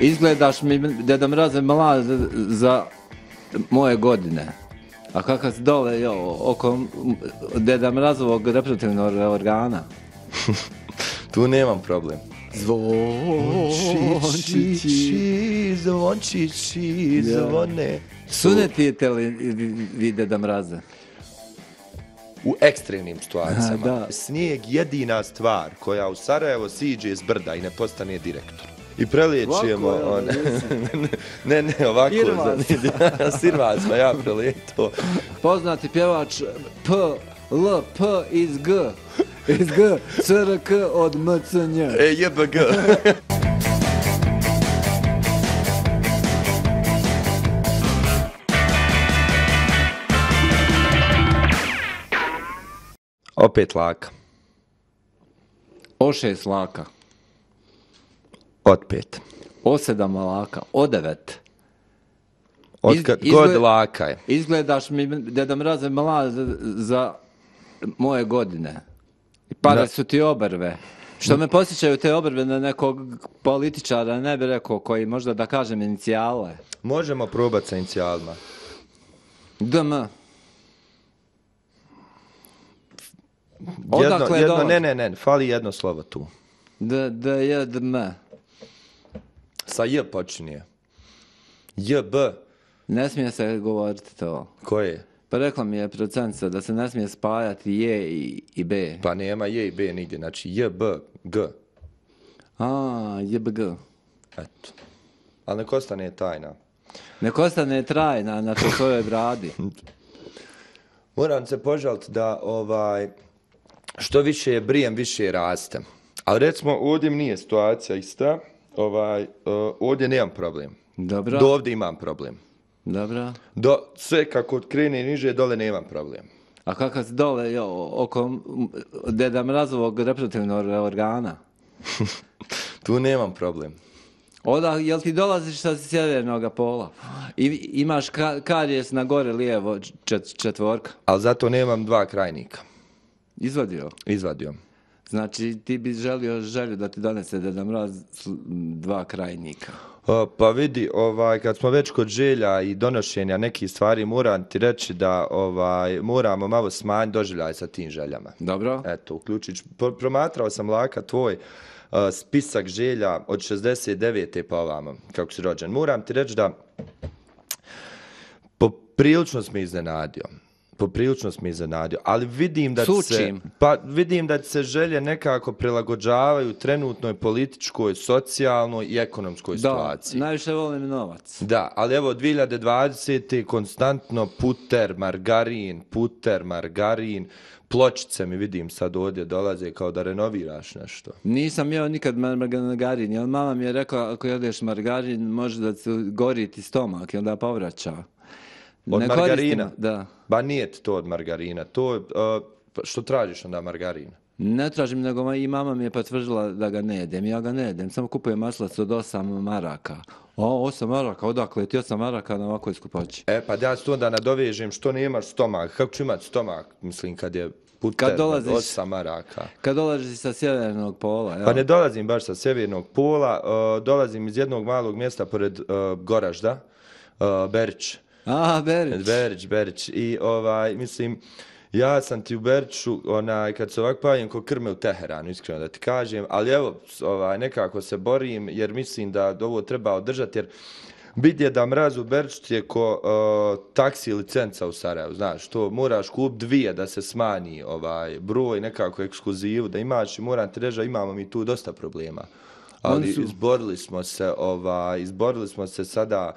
Izgledaš mi, Deda Mraze, mlad za moje godine. A kakav si dole oko Deda Mrazovog reproduktivnog organa? Tu nemam problem. Zvončići, zvončići, zvone. Sunetite li vi Deda Mraze? U ekstremnim situacijama. Da. Snijeg jedina stvar koja u Sarajevo siđe iz brda i ne postane direktor. I preliječujemo... Ne, ovako. Sirvac, ja prelijeto. Poznati pjevač P, L, P iz G. Iz G, CRK od MCNJ. JBG. Opet laka. O6 laka. Od 5. O7 laka. O9. God laka je. Izgledaš mi, Deda Mraze, mlad za moje godine. I pare su ti obrve. Što me posjećaju te obrve na nekog političara, ne bi rekao koji, možda da kažem inicijale. Možemo probati sa inicijalima. DM. Odakle dolazi? Ne, fali jedno slovo tu. DM. Sa J počinje. JB. Ne smije se govoriti to. Koje? Pa rekla mi je procentica da se ne smije spajati J i B. Pa nema J i B nigdje, znači JB, G. JBG. Eto. Ali nek ostane tajna. Nek ostane trajna na to svojoj bradi. Moram se požaliti da što više je brijem, više je rastem. Ali recimo ovdje nije situacija ista. Ovdje nemam problem. Dobro. Do ovdje imam problem. Dobro. Sve kako krene niže, dole nemam problem. A kakav si dole oko Deda Mrazovog reproduktivnog organa? Tu nemam problem. Jel ti dolaziš sa sjevernog pola? I imaš karijes na gore lijevo četvorka? Ali zato nemam dva krajnika. Izvadio? Izvadio. Znači ti bi želju da ti donese Deda Mraz dva krajnika. Pa vidi, kad smo već kod želja i donošenja nekih stvari, moram ti reći da moramo malo smanjiti doživljaj sa tim željama. Dobro. Eto, uključit. Promatrao sam laka tvoj spisak želja od 69. pa ovamo, kako si rođen. Moram ti reći da poprilično sam iznenadio, ali vidim da se želje nekako prilagođavaju trenutnoj političkoj, socijalnoj i ekonomskoj situaciji. Da, najviše volim novac. Da, ali evo 2020. konstantno puter, margarin, pločice mi vidim sad ovdje dolaze kao da renoviraš nešto. Nisam jeo nikad margarin, jer mama mi je rekla ako jedeš margarin može da se gori ti stomak i onda povraća. Od margarina? Da. Ba nije to od margarina. To što tražiš onda margarina? Ne tražim, nego i mama mi je potvrdila da ga ne jedem. Ja ga ne jedem, samo kupujem maslac od 8 maraka. 8 maraka, odakle ti 8 maraka na ovakvoj skupoći? Pa ja se to onda nadovežem, što nemaš stomak? Kako ću imati stomak, mislim, kad je puter 8 maraka? Kad dolaziš sa sjevernog pola, jel? Pa ne dolazim baš sa sjevernog pola, dolazim iz jednog malog mjesta pored Goražda, Berić. Berić. I mislim, ja sam ti u Beriću, kad se ovako pavim ko krme u Teheranu, iskreno da ti kažem, ali evo, nekako se borim, jer mislim da ovo treba održati, jer Deda Mraz u Beriću je ko taksi licenca u Sarajevu, znaš, to moraš kupiti 2 da se smanji broj, nekako ekskluzivu da imaš i moram ti reći da imamo mi tu dosta problema. Ali izborili smo se sada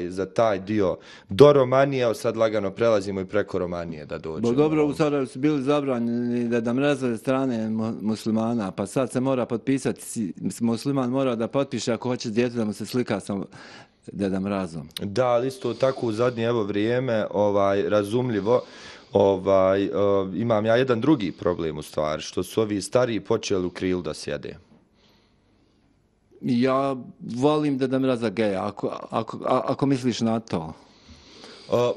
za taj dio do Romanije, sad lagano prelazimo i preko Romanije da dođemo. Dobro, u Sarajevu su bili zabranjeni Deda Mrazove strane muslimana, pa sad se mora potpisati, musliman mora da potpiše ako hoće djete da mu se slika sa Deda Mrazom. Da, ali isto tako u zadnje vrijeme, razumljivo, imam ja jedan drugi problem u stvari, što su ovi stariji počeli u krilu da sjede. Ja volim Deda Mraza geja, ako misliš na to.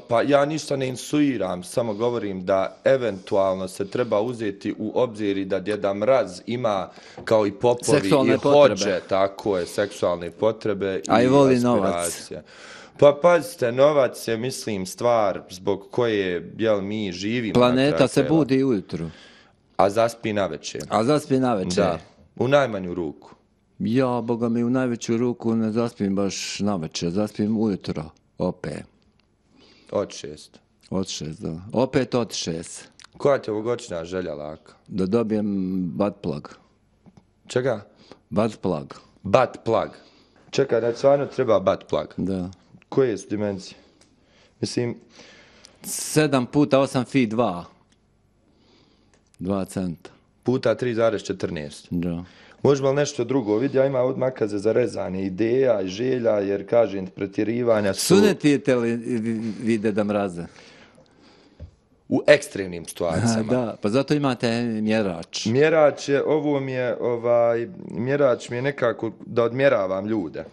Pa ja ništa ne insuiram, samo govorim da eventualno se treba uzeti u obzir i da Djeda Mraz ima, kao i popovi seksualne i potrebe. hođe, tako je, seksualne potrebe a i voli aspiracije. Pa pazite, novac je, mislim, stvar zbog koje, mi živimo. Planeta se budi ujutru. A zaspi navečer. Da, u najmanju ruku. Ja, boga mi, u najveću ruku ne zaspim baš navečer, zaspim ujutro, opet. Od 6. Od 6, da. Opet od 6. Koja ti je ovogodišnja želja, Laka? Da dobijem butt plug. Čega? Butt plug. Butt plug. Čekaj, da stvarno treba butt plug. Da. Koje su dimenzije? Mislim... 7 puta 8 feet 2. 2 centa. Puta 3,14. Da. Možemo li nešto drugo? Vidi, ja imam od makaze za rezanje ideja i želja, jer kažem, pretjerivanja su... Sunetite li vi Deda Mraze? U ekstremnim situacijama. Da, pa zato imate mjerač. Mjerač je, mjerač mi je nekako da odmjeravam ljude.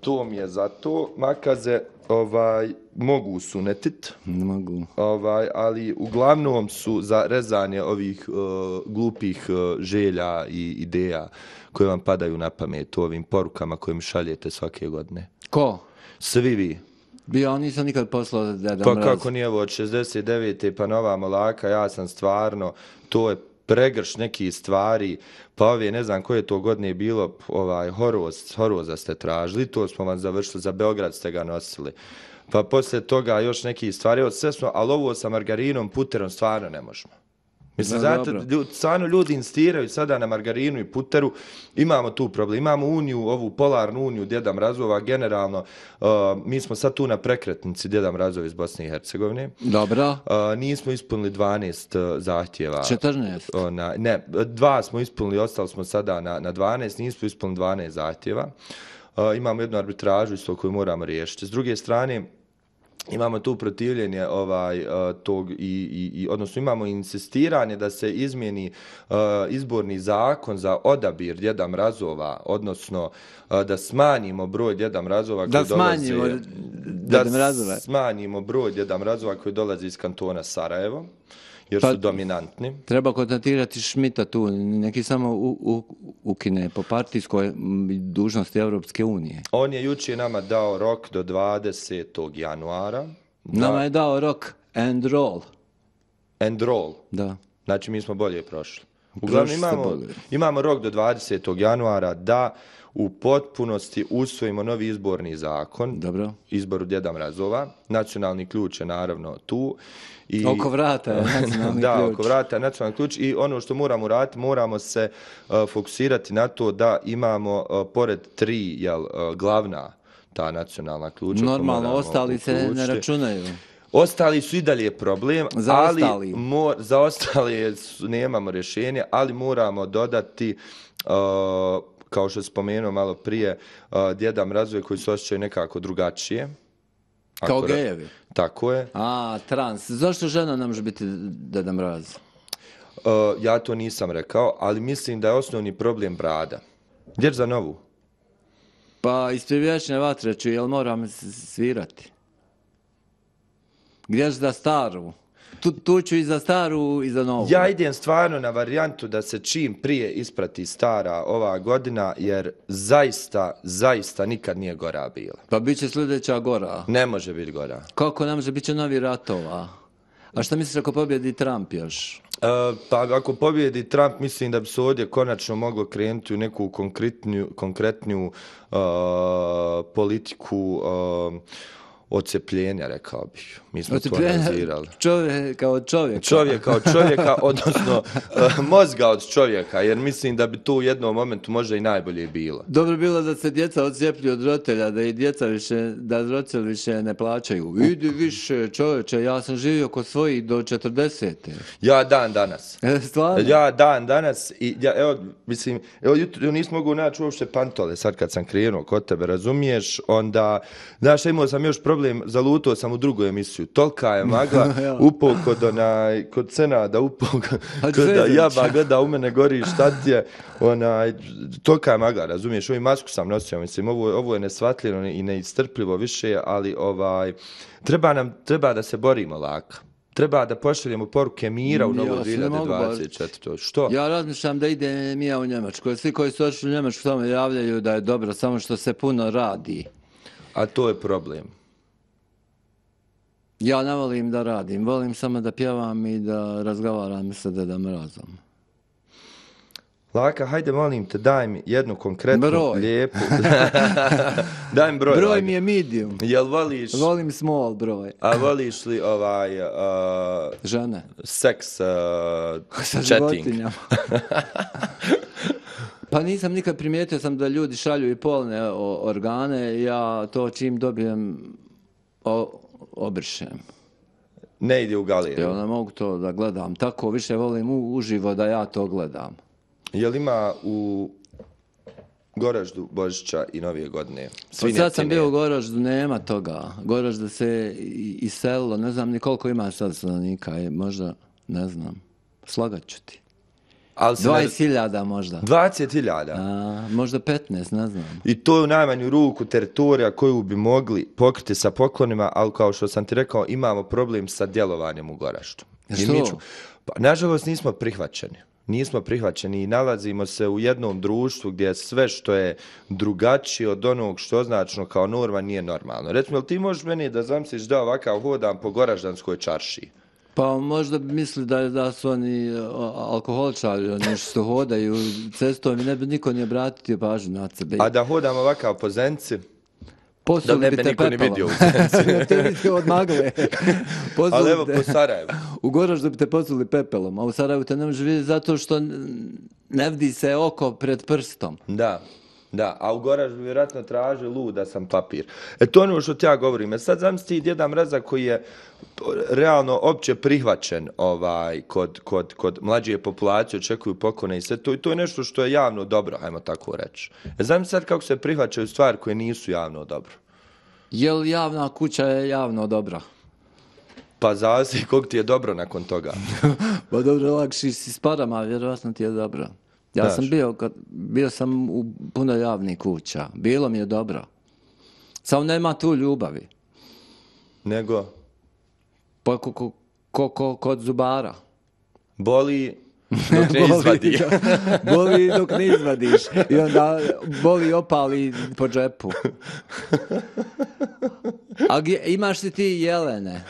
To mi je zato. Makaze, mogu sunetit. Ne mogu. Ali uglavnom su za rezanje ovih glupih želja i ideja koje vam padaju na pamet u ovim porukama koje mi šaljete svake godine. Ko? Svi vi. Ja nisam nikad poslao Deda Pa Mraz. kako nije ovo od 69. pa nova Laka, ja sam stvarno, to je pregrš nekih stvari, pa ove, ne znam koje to godine je bilo, Horoza ste tražili, to smo vam završili, za Beograd ste ga nosili. Pa poslije toga još nekih stvari, sve smo, ali ovo sa margarinom, puterom stvarno ne možemo. Mislim, stvarno ljudi insistiraju sada na margarinu i puteru, imamo tu problem, imamo uniju, ovu polarnu uniju Djeda Mrazova, generalno, mi smo sad tu na prekretnici Djeda Mrazova iz Bosne i Hercegovine. Dobro. Nismo ispunili 12 zahtjeva. 14? Ne, 2 smo ispunili, ostali smo sada na 12, nismo ispunili 12 zahtjeva. Imamo jednu arbitražu isto koju moramo riješiti. S druge strane, imamo tu protivljenje tog odnosno imamo insistiranje da se izmijeni izborni zakon za odabir Djeda Mrazova, odnosno da smanjimo broj Djeda Mrazova koji smanjimo broj Djeda Mrazova koji dolazi iz kantona Sarajevo, jer su dominantni. Treba kontaktirati Šmita tu, neki samo ukine po partijskoj dužnosti Europske unije. On je jučer nama dao rok do 20. januara. Nama je dao rok and roll. And roll? Da. Znači mi smo bolje prošli. Uglavnom imamo rok do 20. januara da u potpunosti usvojimo novi izborni zakon. Dobro. Izboru Djeda Mrazova. Nacionalni ključ je naravno tu. Oko vrata je nacionalni ključ. Da, oko vrata je nacionalni ključ i ono što moramo raditi, moramo se fokusirati na to da imamo pored 3 glavna ta nacionalna ključa. Normalno, ostali se ne računaju. Ostali su i dalje problem, za ostali nemamo rješenje, ali moramo dodati, kao što spomenuo malo prije, Djeda Mrazove koji se osjećaju nekako drugačije. Kao gejevi? Tako je. Trans. Zašto žena ne može biti Deda Mraz? Ja to nisam rekao, ali mislim da je osnovni problem brada. Gdje za novu? Pa ispred vječne vatre ću, jel moram svirati? Gdje za staru? Tu ću i za staru i za novu. Ja idem stvarno na varijantu da se čim prije isprati stara ova godina, jer zaista nikad nije gora bila. Pa bit će sljedeća gora. Ne može biti gora. Kako ne može, bit će novi ratova. A šta misliš ako pobjedi Trump još? Pa ako pobjedi Trump, mislim da bi se ovdje konačno moglo krenuti u neku konkretniju politiku odcepljenja, rekao bih. Mi smo to analizirali. Čovjeka od čovjeka. Čovjeka od čovjeka, odnosno mozga od čovjeka, jer mislim da bi to u jednom momentu možda i najbolje bilo. Dobro bilo da se djeca odcijeplju od roditelja, da i djeca više, da roditelji više ne plaćaju. Idi više, čovječe, ja sam živio kod svojih do 40. Ja dan danas. Stvarno? Ja dan danas i jutro nisam mogu naći uopšte pantole, sad kad sam krenuo kod tebe, razumiješ, onda, znaš, imao sam još problem problem, zalutao sam u drugu emisiju. Tolika je magla, upao kod Senada, upao kod Jaba, gleda u mene gori, šta ti je, tolika je magla, razumiješ, ovu masku sam nosio, mislim, ovo je nesvatljivo i neistrpljivo više, ali treba da se borimo laka. Treba da pošaljemo poruke mira u novu 2024. Što? Ja razmišljam da idem ja u Njemačku. Svi koji su ošli u Njemačku samo javljaju da je dobro, samo što se puno radi. A to je problem. Ja ne volim da radim, volim samo da pjevam i da razgovaram sa Dedom Mrazom. Laka, hajde molim te, daj mi jednu konkretnu, lijepu... Daj mi broj. Broj mi je medium. Jel voliš... Volim small broj. A voliš li žene? Seks sa chatting? Životinjama. Pa nisam nikad primijetio sam da ljudi šalju i polne organe, ja to čim dobijem obrišem. Ne ide u galeriju. Ja ne mogu to da gledam, tako više volim uživo da ja to gledam. Je li ima u Goraždu Božića i Novije godine? Sad sam bio u Goraždu, nema toga. Goraždu se iselilo, ne znam ni koliko ima sad stanovnika, možda, ne znam, slagat ću ti. 20.000 možda. 20.000? Možda 15, ne znam. I to je u najmanju ruku teritorija koju bi mogli pokriti sa poklonima, ali kao što sam ti rekao, imamo problem sa djelovanjem u Goraždu. Što? Pa, nažalost, nismo prihvaćeni i nalazimo se u jednom društvu gdje sve što je drugačije od onog što je označeno kao norma nije normalno. Recimo, ti možeš meni da zamisliš da ovakav hodam po Goraždanskoj čaršiji? Pa možda misli da su oni alkoholičari, oni što hodaju cestom i ne bi niko ni obratio pažnju na sebe. A da hodam ovakav po Zenci? Da ne bi niko ni vidio u Zenci. Ne te vidio od magle. Ali evo po Sarajevu. U Goraždu bi te posuli pepelom, a u Sarajevu te ne može vidjeti zato što ne vidi se oko pred prstom. Da, a u Goraždu vjerojatno traže luda sam papir. To ono što ti ja govorim. Sad zamisli Djeda Mraza koji je realno opće prihvaćen kod mlađe populacije, očekuju poklone i sve to. I to je nešto što je javno dobro, ajmo tako reći. Zamisli sad kako se prihvaćaju stvari koje nisu javno dobro. Je li javna kuća je javno dobra? Pa zavisi koliko ti je dobro nakon toga. Pa dobro, lakši si s parama, vjerojatno ti je dobro. Ja sam bio sam u puno javnih kuća. Bilo mi je dobro. Samo nema tu ljubavi. Nego? Pa kod zubara. Boli dok ne izvadi. Boli dok ne izvadiš. I onda boli opali po džepu. A imaš li ti jelene?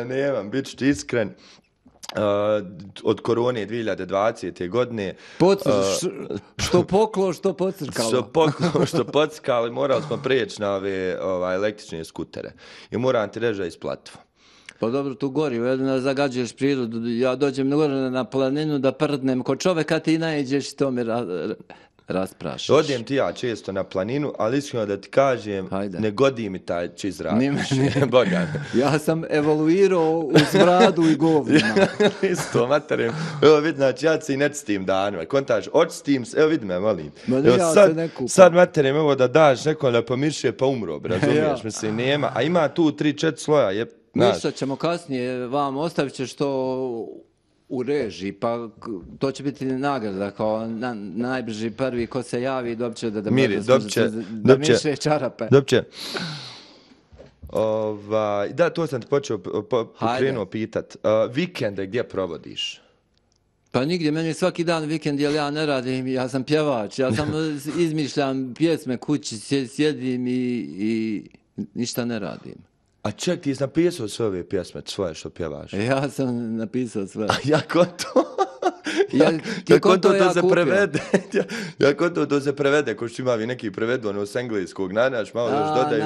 Nemam, bit ću ti iskren. Od korone 2020. godine. Što poklo, što pocrkalo. Što poklo, što pocrkalo i morali smo prijeći na ove električne skutere. I moram ti reći da je isplativo. Pa dobro, tu gori, jedno zagađuješ prirodu. Ja dođem na planinu da prdnem kod čoveka, ti naiđeš i to mi rasprašaš. Odem ti ja često na planinu, ali iskreno da ti kažem, ne godi mi taj čist zrak. Boga. Ja sam evoluirao u smradu i govnima. Isto, materijem. Evo vidi, znači ja se i ne stim danima. Kontaž, očistim se, evo vidi me, molim. Sad materijem, evo da daš nekom da pomirše pa umro, razumiješ, mislim, nema. A ima tu 3-4 sloja, ništa ćemo kasnije, vam ostavit ćeš to u režiji, pa to će biti nagrada kao najbrži prvi ko se javi dobit će da miriše čarape. Dobće. Da, to sam ti krenuo pitat. Vikende gdje provodiš? Pa nigdje, meni svaki dan vikend, jer ja ne radim, ja sam pjevač, ja sam izmišljam pjesme kući, sjedim i ništa ne radim. A ček, ti si napisao sve ove pjesme svoje što pjevaš? Ja sam napisao sve. A jako to? Kako to se prevede? Kako to se prevede? Ko što ima neki prevedu, ono s engleskog, naš malo još dodaju.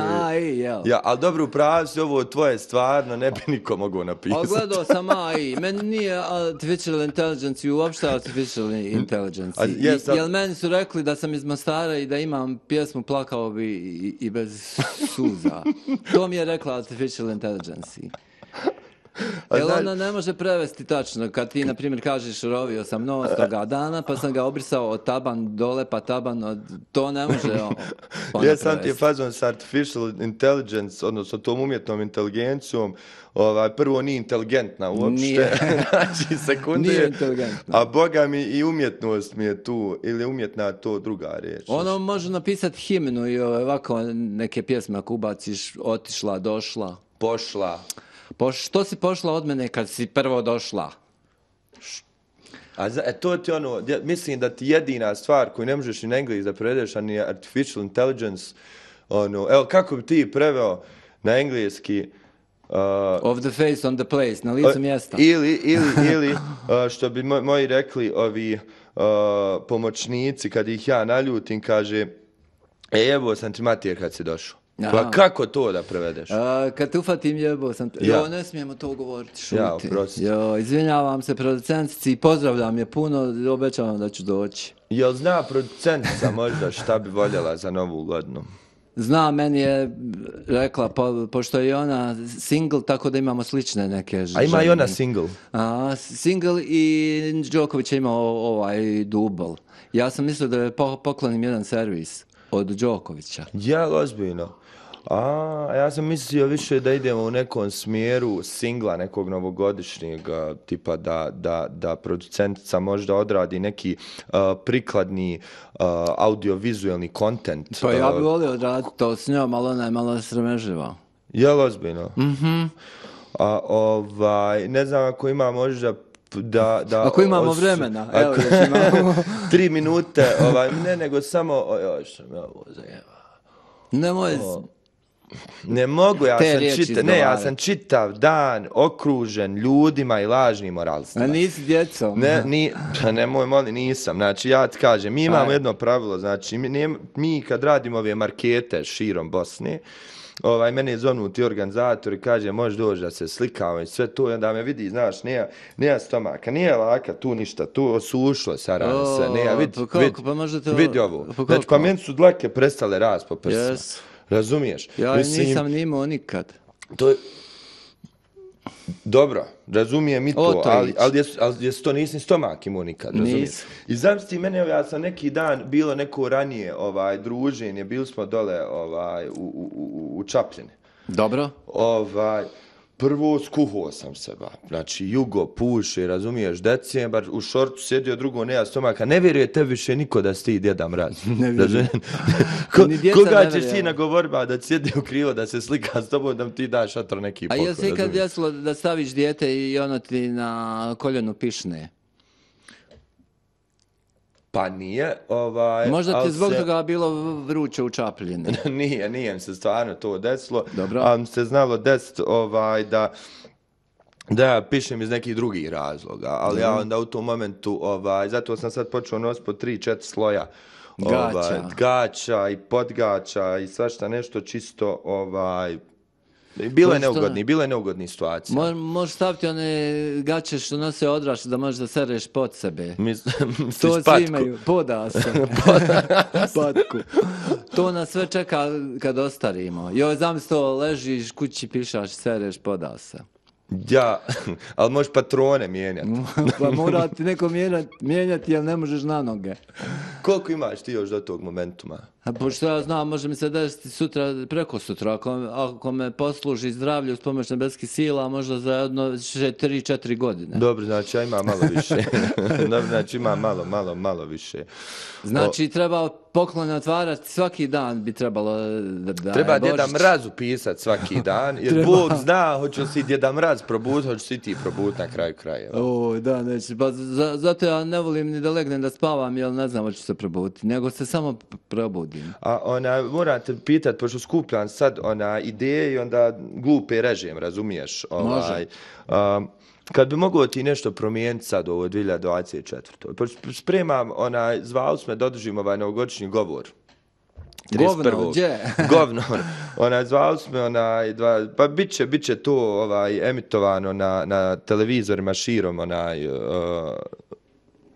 Ali dobro, upravo si ovo tvoje stvarno, ne bi niko mogao napisati. A gledao sam AI, meni nije artificial intelligence i uopšte artificial intelligence. Jel meni su rekli da sam iz Mostara i da imam pjesmu Plakao bi i bez suza. To mi je rekla artificial intelligence. Jel ona ne može prevesti tačno, kad ti, na primjer, kažeš rovio sam nos toga dana, pa sam ga obrisao od taban dole, pa taban, to ne može ona sam ti je fazon s artificial intelligence, odnosno tom umjetnom inteligencijom, prvo nije inteligentna uopšte, znači sekunde, nije inteligentna. A boga mi i umjetnost mi je tu, ili umjetna to druga riječ. Ono može napisati himnu i ovako neke pjesme ako ubaciš, otišla, došla. Pošla. Što si pošla od mene kad si prvo došla? To ti mislim da ti jedina stvar koju ne možeš ni na engleski da prevedeš, a ni artificial intelligence, evo kako bi ti preveo na engleski of the face on the place, na licu mjesta. Ili što bi moji rekli ovi pomoćnici, kad ih ja naljutim, kaže, evo sam ti Matija kad si došao. Pa kako to da prevedeš? Kad te ufatim jebo sam te... Jo, ne smijemo to govoriti, šuti. Jo, izvinjavam se producentici, pozdravljam je puno, obećavam da ću doći. Jel zna producentica možda šta bi voljela za novu godinu? Zna, meni je rekla, pošto je ona single, tako da imamo slične neke žene. A ima i ona single? Single i Đoković je imao ovaj dubl. Ja sam mislio da je poklonim jedan servis od Đokovića. Ja, ozbiljno. Ja sam mislio više da idemo u nekom smjeru singla nekog novogodišnjeg, tipa da producentica možda odradi neki prikladni audiovizualni kontent. Pa ja bih volio odraditi to s njom, ali ona je malo srameživa. Jel ozbiljno? Mhm. Ne znam ako ima možda ako imamo vremena, evo da imamo 3 minute, ne nego samo što me ovo zajeva. Ne mogu, ja sam čitav dan okružen ljudima i lažnim moralstvima. A nisi djecom? Nemoj, molim, nisam. Znači, ja ti kažem, mi imamo jedno pravilo, znači, mi kad radimo ove markete širom Bosne, mene zovnu ti organizatori, kaže, možeš doći da se slikamo i sve to, i onda me vidi, znaš, nema stomaka, nije laka, tu ništa, tu osušlo se rane sve, vidi ovo. Znači, pa meni su dlake prestale rast po prsima. Razumiješ? Ja nisam ni imao nikad. Dobro, razumijem i to, ali to nisi stomak imao nikad, razumiješ? I zamisli mene, ja sam neki dan, bilo neko ranije druženje, bili smo dole u Čapljini. Dobro. Prvo skuhao sam se, znači jugo puše, razumiješ, decembar, u šortu sjedio, drugo nema stomaka, ne vjeruje tebi više niko da si ti Djeda Mraz. Koga ćeš ti nagovoriti da sjedi u krivo, da se slika s tobom, da ti daš šatro neki pokoj. A jel se ikad desilo da staviš dijete i ono ti na koljenu pišne? Pa nije, možda ti zbog toga bilo vruće u Čapljini. Nije se stvarno to desilo. Dobro. Ali se znalo desiti da ja pišem iz nekih drugih razloga, ali ja onda u tom momentu, zato sam sad počeo nositi po 3-4 sloja. Gaća i podgaća i svašta nešto čisto, bilo je neugodnih situacija. Možeš staviti one gaće što nose odrašće da možeš da sereš pod sebe. To svi imaju, podasa. Patku. To nas sve čeka kad ostarimo. Joj, zamisli to, ležiš kući, pišaš, sereš podasa. Ja, ali možeš patrone mijenjati. Pa mora ti neko mijenjati, jer ne možeš na noge. Koliko imaš ti još do tog momentuma? Pošto ja znam, može mi se desiti sutra, preko sutra, ako me posluži zdravlje uz pomoć nebeskih sila, možda za jedno 3-4 godine. Dobro, znači ja imam malo više. Dobro, znači imam malo više. Znači treba poklone otvarati svaki dan, bi trebalo da treba Djeda Mrazu pisati svaki dan, jer Bog zna, hoće li si Djeda Mraz probuditi, hoće si ti probuditi na kraju krajeva. Da, neće, pa zato ja ne volim ni da legnem da spavam, jer ne znam hoću se probuditi, nego se samo probudim. A moram te pitati, pošto skupljam sad ideje i onda glupe režim, razumiješ? Može. Kad bi mogao ti nešto promijeniti sad u ovoj 2024. Spremam, zvali smo da održim novogodišnji govor. Govno, gdje? Govno. Zvali smo, pa bit će to emitovano na televizorima širom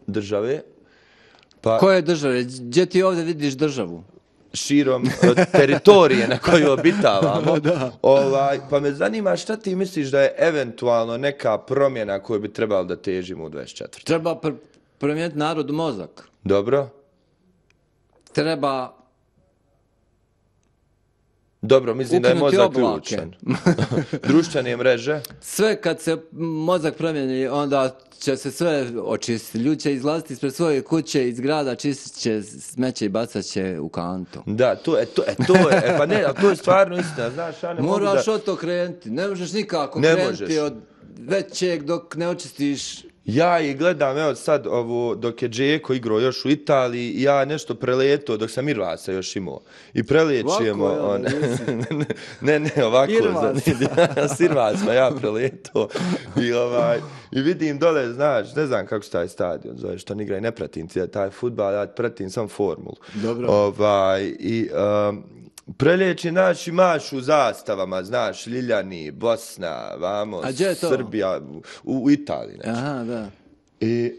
države. Koje države? Gdje ti ovdje vidiš državu? širom teritorije na koju obitavamo. Pa me zanima šta ti misliš da je eventualno neka promjena koju bi trebalo da težimo u 24. Treba promijeniti narodu mozak. Dobro. Treba Dobro, mislim da je mozak ključan. Društvene mreže. Sve kad se mozak promijeni, onda će se sve očistiti. Ljudi će izlaziti ispred svoje kuće, iz grada, čistit će smeće i bacat će u kantu. Da, to je, pa ne, ali to je stvarno istina, znaš, ja ne mogu da... Moraš od to krenuti, ne možeš nikako krenuti od većeg dok ne očistiš. Ja i gledam, evo sad, dok je Džeko igrao još u Italiji, ja nešto preleto dok sam Irvasa još imao. I preliječujemo... ovako. S Irvasa ja preleto. I vidim dole, znaš, ne znam kako se taj stadion zove, što ne igra i ne pratim taj fudbal, ja pratim sam formulu. Dobro. Prelječi naši mašu zastavama, znaš, Ljiljani, Bosna, vamo, Srbija, u Italiji. Znači. Aha, da. I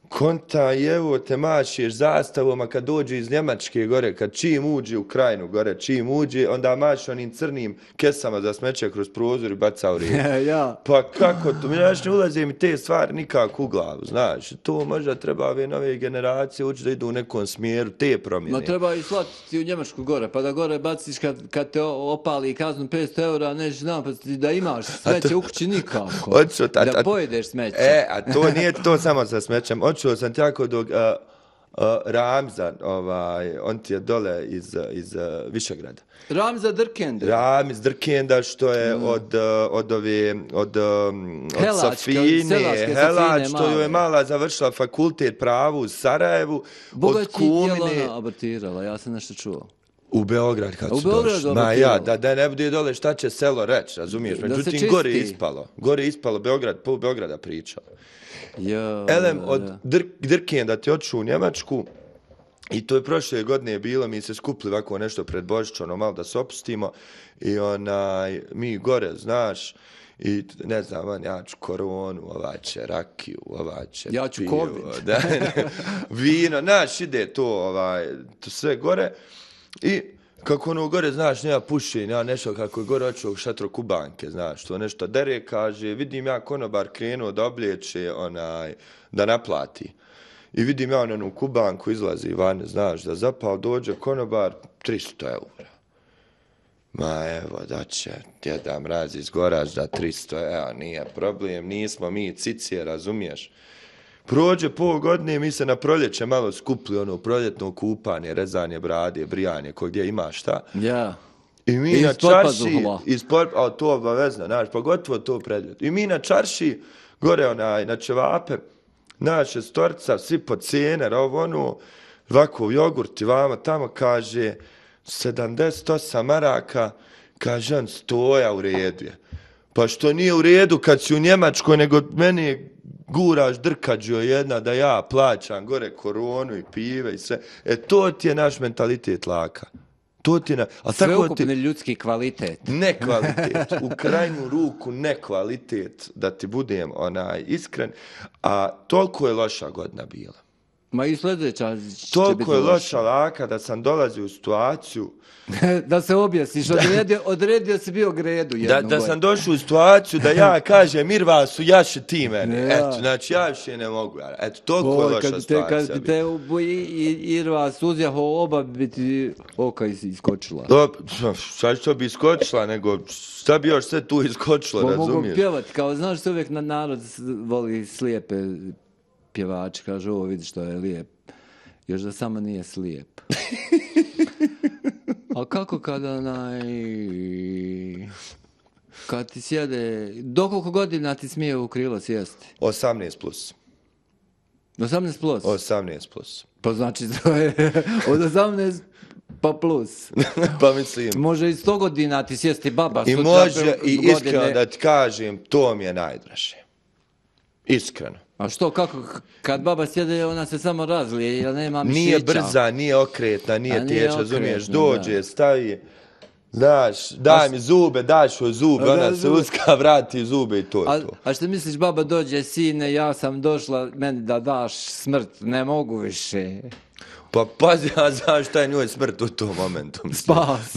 konta evo te mašeš zastavom, a kad dođe iz Njemačke gore, kad čim uđe u Krajinu gore, čim uđe, onda maš onim crnim kesama za smeće kroz prozor i baca u rijeku. Ja. Pa kako to? Znaš, ne ulaze mi te stvari nikako u glavu, znaš. To možda treba ove nove generacije ući da idu u nekom smjeru, te promjene. No treba i slati u Njemačku gore, pa da gore baciš kad te opali kaznu 500 eura, nećeš napasti da imaš smeće u kući nikako. Da pojedeš smeće. A to nije to samo sa smećem. Čuo sam tako dok Ramza, on ti je dole iz Višegrada. Ramza Drkenda. Ramiz Drkenda, što je od Safine, Helač, što joj je mala završila fakultet pravu u Sarajevu. Bogaći je ona abortirala, ja sam nešto čuo. U Beograd kad su došli. Da ne bude dole šta će selo reći, razumiješ? Međutim, gore je ispalo. Gore je ispalo Beograd, pol Beograda pričalo. Elem od Drkenda ti otišu u Njemačku i to je prošle godine bilo, mi se skupili ovako nešto pred Božić, malo da se opustimo i mi gore, znaš, i ne znam, ja ću koronu, ovaj će rakiju, ovaj će ja ću COVID. Vino, znaš, ide to sve gore i kako ono gore, znaš, nema pušenja, ja nešto kako je gore očeo šatro Kubanke, znaš, to nešto dere, kaže, vidim ja konobar krenuo da obliječe, da naplati. I vidim ja onu Kubanku izlazi van, znaš, da zapao dođe konobar 300 eura. Ma evo, da će Djeda Mraz iz Goražda 300 eura, nije problem, nismo mi cicije, razumiješ? Prođe pol godine, mi se na proljeće malo skupli, proljetno kupanje, rezanje brade, brijanje, gdje ima šta. Ja. I mi na čarši, a to obavezno, znaš, pogotovo to predljet. I mi na čarši, gore na ćevape, naše storca, svi po cijener, ovako jogurt i vama, tamo kaže 78 maraka, kaže on stoja u redu je. Pa što nije u redu kad si u Njemačkoj, nego meni je guraš drkađo jedna da ja plaćam gore koronu i pive i sve. To ti je naš mentalitet laka. Sveukupni ljudski kvalitet. Ne kvalitet. U krajnju ruku ne kvalitet, da ti budem iskren. A toliko je loša godina bila. Ma i sljedeća će toliko je loša laka da sam dolazio u situaciju da se objasniš, odredio si bio gredu. Da sam došao u situaciju da ja kažem Irvasu, jaši ti mene. Eto, znači ja više ne mogu. Eto, toliko je loša situacija. Kad te Irvas uzjaho, oba bi ti oka iskočila. Šta što bi iskočila, nego šta bi još sve tu iskočilo, razumiješ? Mogu pjevati, kao znaš se uvijek narod voli slijepe pjevači, kaže ovo vidi što je lijep. Još da samo nije slijep. A kako kad ti sjede, do koliko godina ti smije u krilo sjesti? 18 plus. 18 plus? 18 plus. Pa znači to je od 18 pa plus. Pa mislim. Može i 100 godina ti sjesti baba. I može i iskreno da ti kažem, to mi je najdraže. Iskreno. A što, kako, kad baba sjede, ona se samo razlije, jer nema mišića. Nije brza, nije okretna, nije tječ, razumiješ, dođe, stavi, daš, daj mi zube, daš joj zube, ona se uska, vrati zube i to je to. A što misliš, baba dođe, sine, ja sam došla, meni da daš smrt, ne mogu više. Pa pazi, ja znaš šta je njoj smrt u tom momentu. Spas.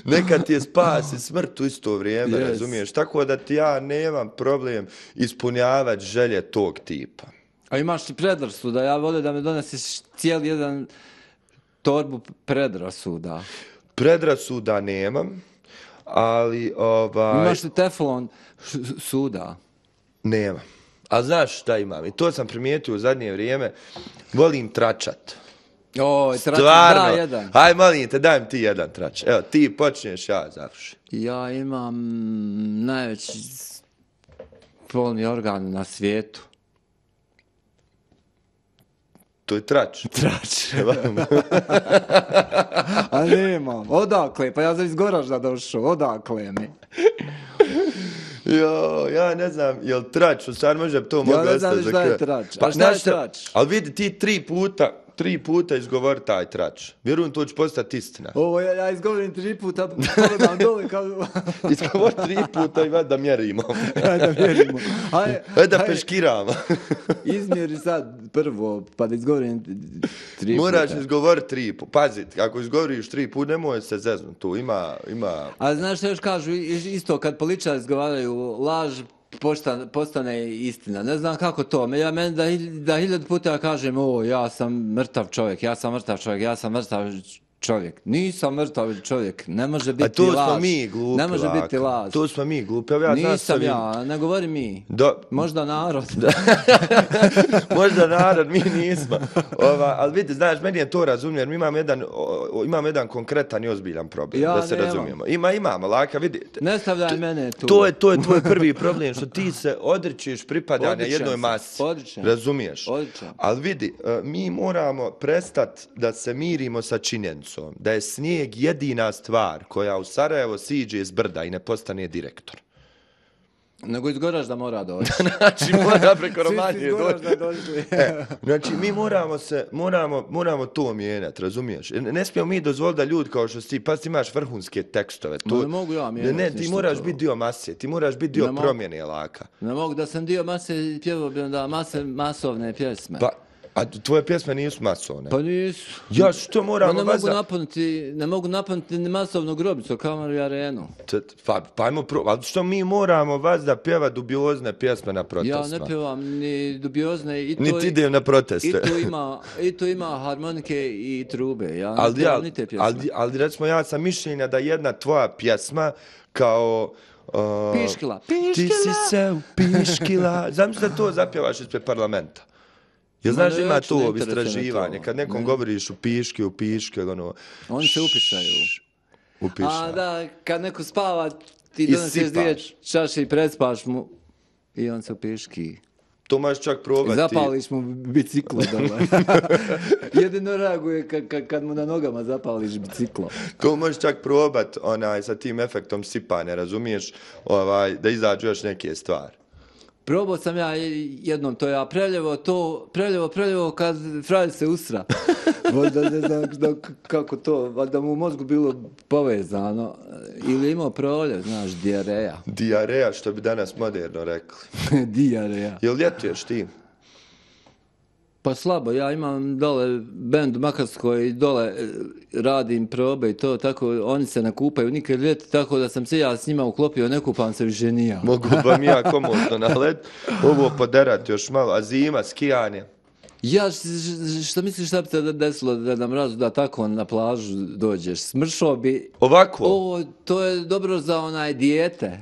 Nekad ti je spas i smrt u isto vrijeme, razumiješ? Tako da ti ja nemam problem ispunjavati želje tog tipa. A imaš ti predrasuda, ja volim da me donesiš cijeli jedan torbu predrasuda. Predrasuda nemam, ali Imaš li teflon suda? Nema. A znaš šta imam? I to sam primijetio u zadnje vrijeme. Volim tračat. Stvarno. Da, jedan. Aj, molim te, daj mi ti jedan trač. Evo, ti počneš, ja završim. Ja imam najveći spolni organ na svijetu. To je trač. Trač. A nemam. Odakle? Pa ja sam iz Goražda došao. Odakle mi? Jo, ja ne znam, jel trač, u stvari možda bi to moglo ostati za kraj. Ja ne znam šta je trač. Pa šta je trač? Ali vidi, ti tri puta izgovori taj trač. Vjerujem, to će postati istina. Ovo, ja izgovorim 3 puta, pogledam dole kao... Izgovori 3 puta i vada da mjerimo. Da mjerimo. Ajde da peškiramo. Izmjeri sad prvo, pa da izgovorim 3 puta. Moraš izgovoriti 3 puta. Pazi, ako izgovoriš 3 puta, nemoj se zeznut. Tu ima... A znaš što još kažu, isto kad političari izgovaraju laž, postane istina. Ne znam kako to. Meni da 1000 puta kažem, ja sam mrtav čovjek. Nisam mrtav čovjek. Ne može biti laž. A to smo mi glupi. Ne može biti laž. To smo mi glupi. Nisam ja, ne govori mi. Možda narod. Možda narod, mi nismo. Ali vidi, znaš, meni je to razumljen. Mi imamo jedan konkretan i ozbiljan problem. Da se razumijemo. Imamo, laka, vidite. Ne stavljaj mene tu. To je tvoj prvi problem, što ti se odričeš pripadanja jednoj masi. Razumiješ? Ali vidi, mi moramo prestati da se mirimo sa činjenicom da je snijeg jedina stvar koja u Sarajevo siđe iz brda i ne postane direktor. Nego iz Goražda mora doći. Znači, mora preko Romanije doći. Znači, mi moramo to mijenjati, razumiješ? Ne smijemo mi dozvoliti da ljudi kao što ti, pa ti imaš vrhunske tekstove. Ne mogu ja mijenjati. Ne, ti moraš biti dio mase, ti moraš biti dio promjene laka. Ne mogu da sam dio mase, pjevao bi onda masovne pjesme. A tvoje pjesme nisu masovne? Pa nisu. Ja što moramo ne mogu napuniti ni masovnu grobicu, Kamaru i Arenu. Pa ajmo ali što mi moramo vas da pjeva dubiozne pjesme na protestima? Ja ne pjevam ni dubiozne. Niti idem na proteste. I tu ima harmonike i trube. Ja ne pjevam ni te pjesme. Ali recimo ja sam mišljenja da jedna tvoja pjesma kao... Piškila. Ti si se upiškila. Znam da to zapjevaš ispred parlamenta. Jel znaš da ima to istraživanje, kad nekom govoriš u piške, ono... Oni se upišaju. A da, kad neko spava, ti donosiš 2 čaše i prespaš mu i on se upiški. To možeš čak probati. Zapališ mu biciklo dole. Jedino reaguje kad mu na nogama zapališ biciklo. To možeš čak probati sa tim efektom sipanja, razumiješ, da izađu još neke stvari. Probao sam ja jednom to, ja preljevo kad frajer se usra. Možda ne znam kako to, da mu u mozgu bilo povezano. Ili imao proljev, znaš, dijareja. Dijareja, što bi danas moderno rekli. Dijareja. Jel ljetuješ ti? Pa slabo, ja imam dole bend u Makarskoj i dole radim probe i to, tako oni se nakupaju nikad ljeti, tako da sam se ja s njima uklopio, ne kupam se više nija. Mogu ba mi ja komotno na led, ovo poderati još malo, a zima, skijanje. Ja, što misliš šta bi se desilo da nam razu da tako na plažu dođeš? Smršao bi... Ovako? To je dobro za dijete.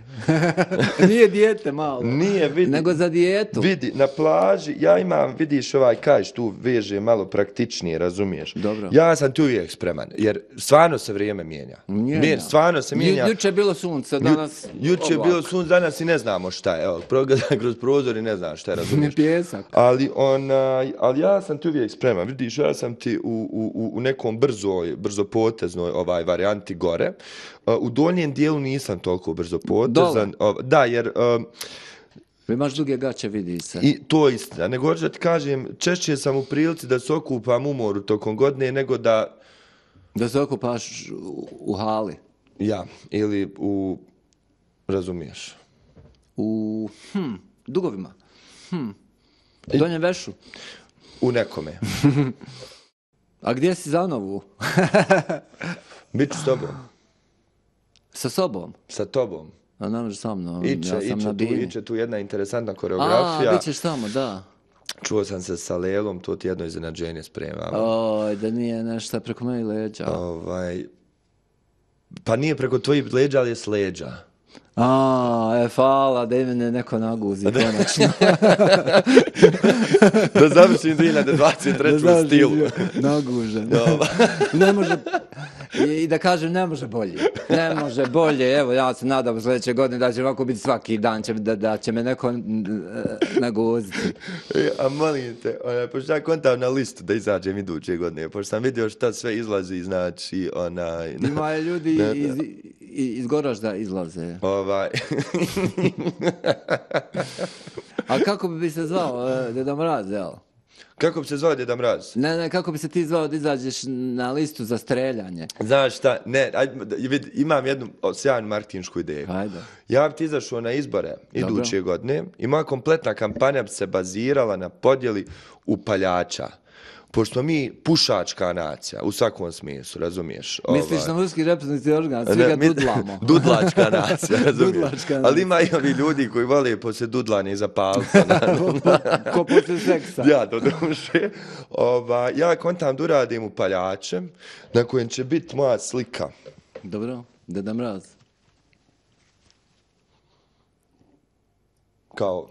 Nije dijete malo. Nije, vidi. Nego za dijetu. Vidi, na plaži, ja imam, vidiš kažeš tu veže malo praktičnije, razumiješ? Dobro. Ja sam tu uvijek spreman, jer stvarno se vrijeme mijenja. Stvarno se mijenja. Juče je bilo sunce, danas... Juče je bilo sunce, danas i ne znamo šta je. Evo, progledaj kroz prozor i ne znam šta je, razumiješ? Pjesak. Ali ja sam ti uvijek spreman, vidiš, ja sam ti u nekom brzopoteznoj varijanti gore. U donjem dijelu nisam toliko brzopotezan. Da, jer... Imaš duge gaće, vidi se. I to je istina. Nego hoću da ti kažem, češće sam u prilici da se okupam u moru tokom godine, nego da... Da se okupaš u hali. Ja, ili u... Razumiješ? U... Dugovima. Donjem vešu. U nekome. A gdje si za novu? Biću s tobom. Sa sobom? Sa tobom. A ne može sa mnom, ja sam na bini. Iće tu jedna interesantna koreografija. A, bit ćeš tamo, da. Čuo sam se sa Lelom, to ti jedno iznenađenje spremamo. Oj, da nije nešto preko mojih leđa. Pa nije preko tvojih leđa, ali je s leđa. Hvala, da i mene neko naguzi, konačno. Da završim 2023. u stilu. Nagužen. Ne može, i da kažem, ne može bolje. Ne može bolje, evo, ja se nadam sljedeće godine da će ovako biti svaki dan, da će me neko naguziti. A molim te, pošto ja kontam na listu da izađem iduće godine, pošto sam vidio šta sve izlazi, znači, Ima ljudi iz Goražda izlaze. A kako bi se zvao Deda Mraz, jel? Kako bi se zvao Deda Mraz? Ne, kako bi se ti zvao da izađeš na listu za streljanje? Znaš šta, imam jednu sjajnu marketinšku ideju. Ajde. Ja bi ti izašao na izbore iduće godine i moja kompletna kampanja bi se bazirala na podjeli upaljača. Pošto mi pušačka nacija, u svakom smislu, razumiješ? Misliš na muški reproduktivni organ, svi ga dudlamo. Dudlačka nacija, razumiješ? Ali ima i ovi ljudi koji vole poslije dudlanja iza palca. Ko poslije seksa. Ja, do duše. Ja kontam da uradim upaljačem, na kojem će biti moja slika. Dobro, Deda Mraz.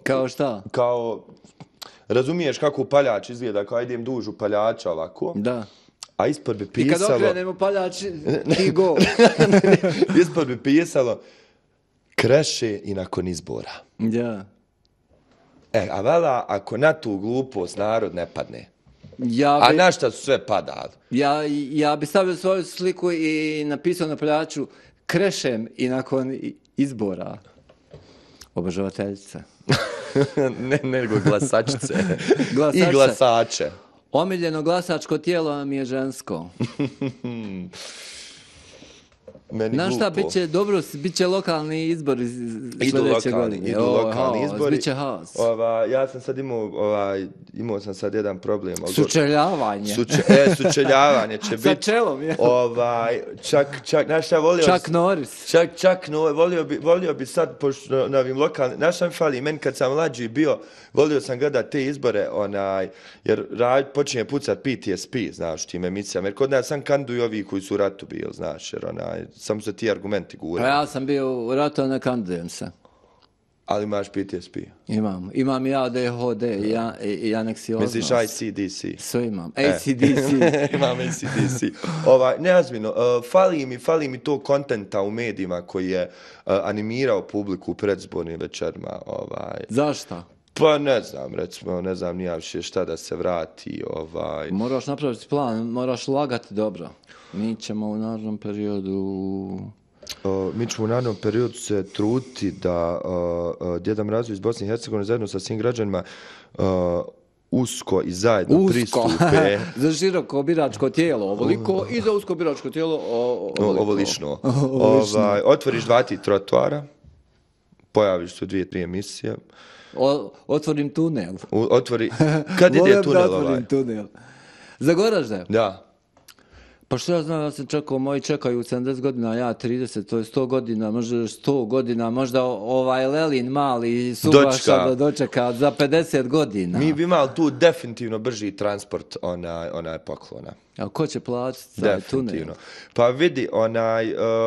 Kao šta? Kao... Razumiješ kako upaljač izgleda, kao idem duž upaljača ovako. Da. A ispod bi pisalo... I kad okrenem upaljač, ti go. Ispod bi pisalo kreše i nakon izbora. Ja. A vela, ako na tu glupost narod ne padne. A na šta su sve padali? Ja bi stavio svoju sliku i napisao na upaljaču krešem i nakon izbora. Obožavateljice. Ne, nego glasačice. I glasače. Omiljeno glasačko tijelo mi je žensko. Meni znaš šta, bit će lokalni izbori sljedeće godine. Idu lokalni izbori. Bit će haos. Ja sam sad imao sam sad jedan problem. Sučeljavanje. Sučeljavanje će biti. Sa čelom, je. Čak, znaš šta, Čak Norris. Volio bi sad, pošto na ovim lokalnim, znaš šta mi fali, meni kad sam mlađi bio, volio sam gledat te izbore, jer počinje pucat PTSP, znaš, tim emisijama, jer kod nas sam kanduju ovi koji su u ratu bili, znaš, jer samo se ti argumenti gure. Pa ja sam bio u ratu, ne kandujem se. Ali imaš PTSP? Imam i ADHD i aneksioznost. Misliš ICDC? Sve imam. ACDC. Imam ACDC. Neazmino, fali mi to kontenta u medijima koji je animirao publiku u predzbornim večerima. Zašto? Pa ne znam, recimo, ne znam nija više šta da se vrati. Moraš napraviti plan, moraš lagati dobro. Mi ćemo u narednom periodu se truditi da Djeda Mraz iz Bosne i Hercegovine zajedno sa svim građanima usko i zajedno pristupe. Za široko biračko tijelo ovoliko i za usko biračko tijelo ovolično. Otvoriš 2 trotoara, pojaviš se u 2-3 emisije. Otvorim tunel. Kad ide tunel otvorim tunel. Za Goražde? Da. Pa što ja znam, ja sam čekao, moji čekaju 70 godina, ja 30, to je 100 godina, možda 100 godina, možda Lelin mali Subaša da dočeka za 50 godina. Mi bi imali tu definitivno brži transport onaj poklona. A ko će platiti taj tunel? Pa vidi,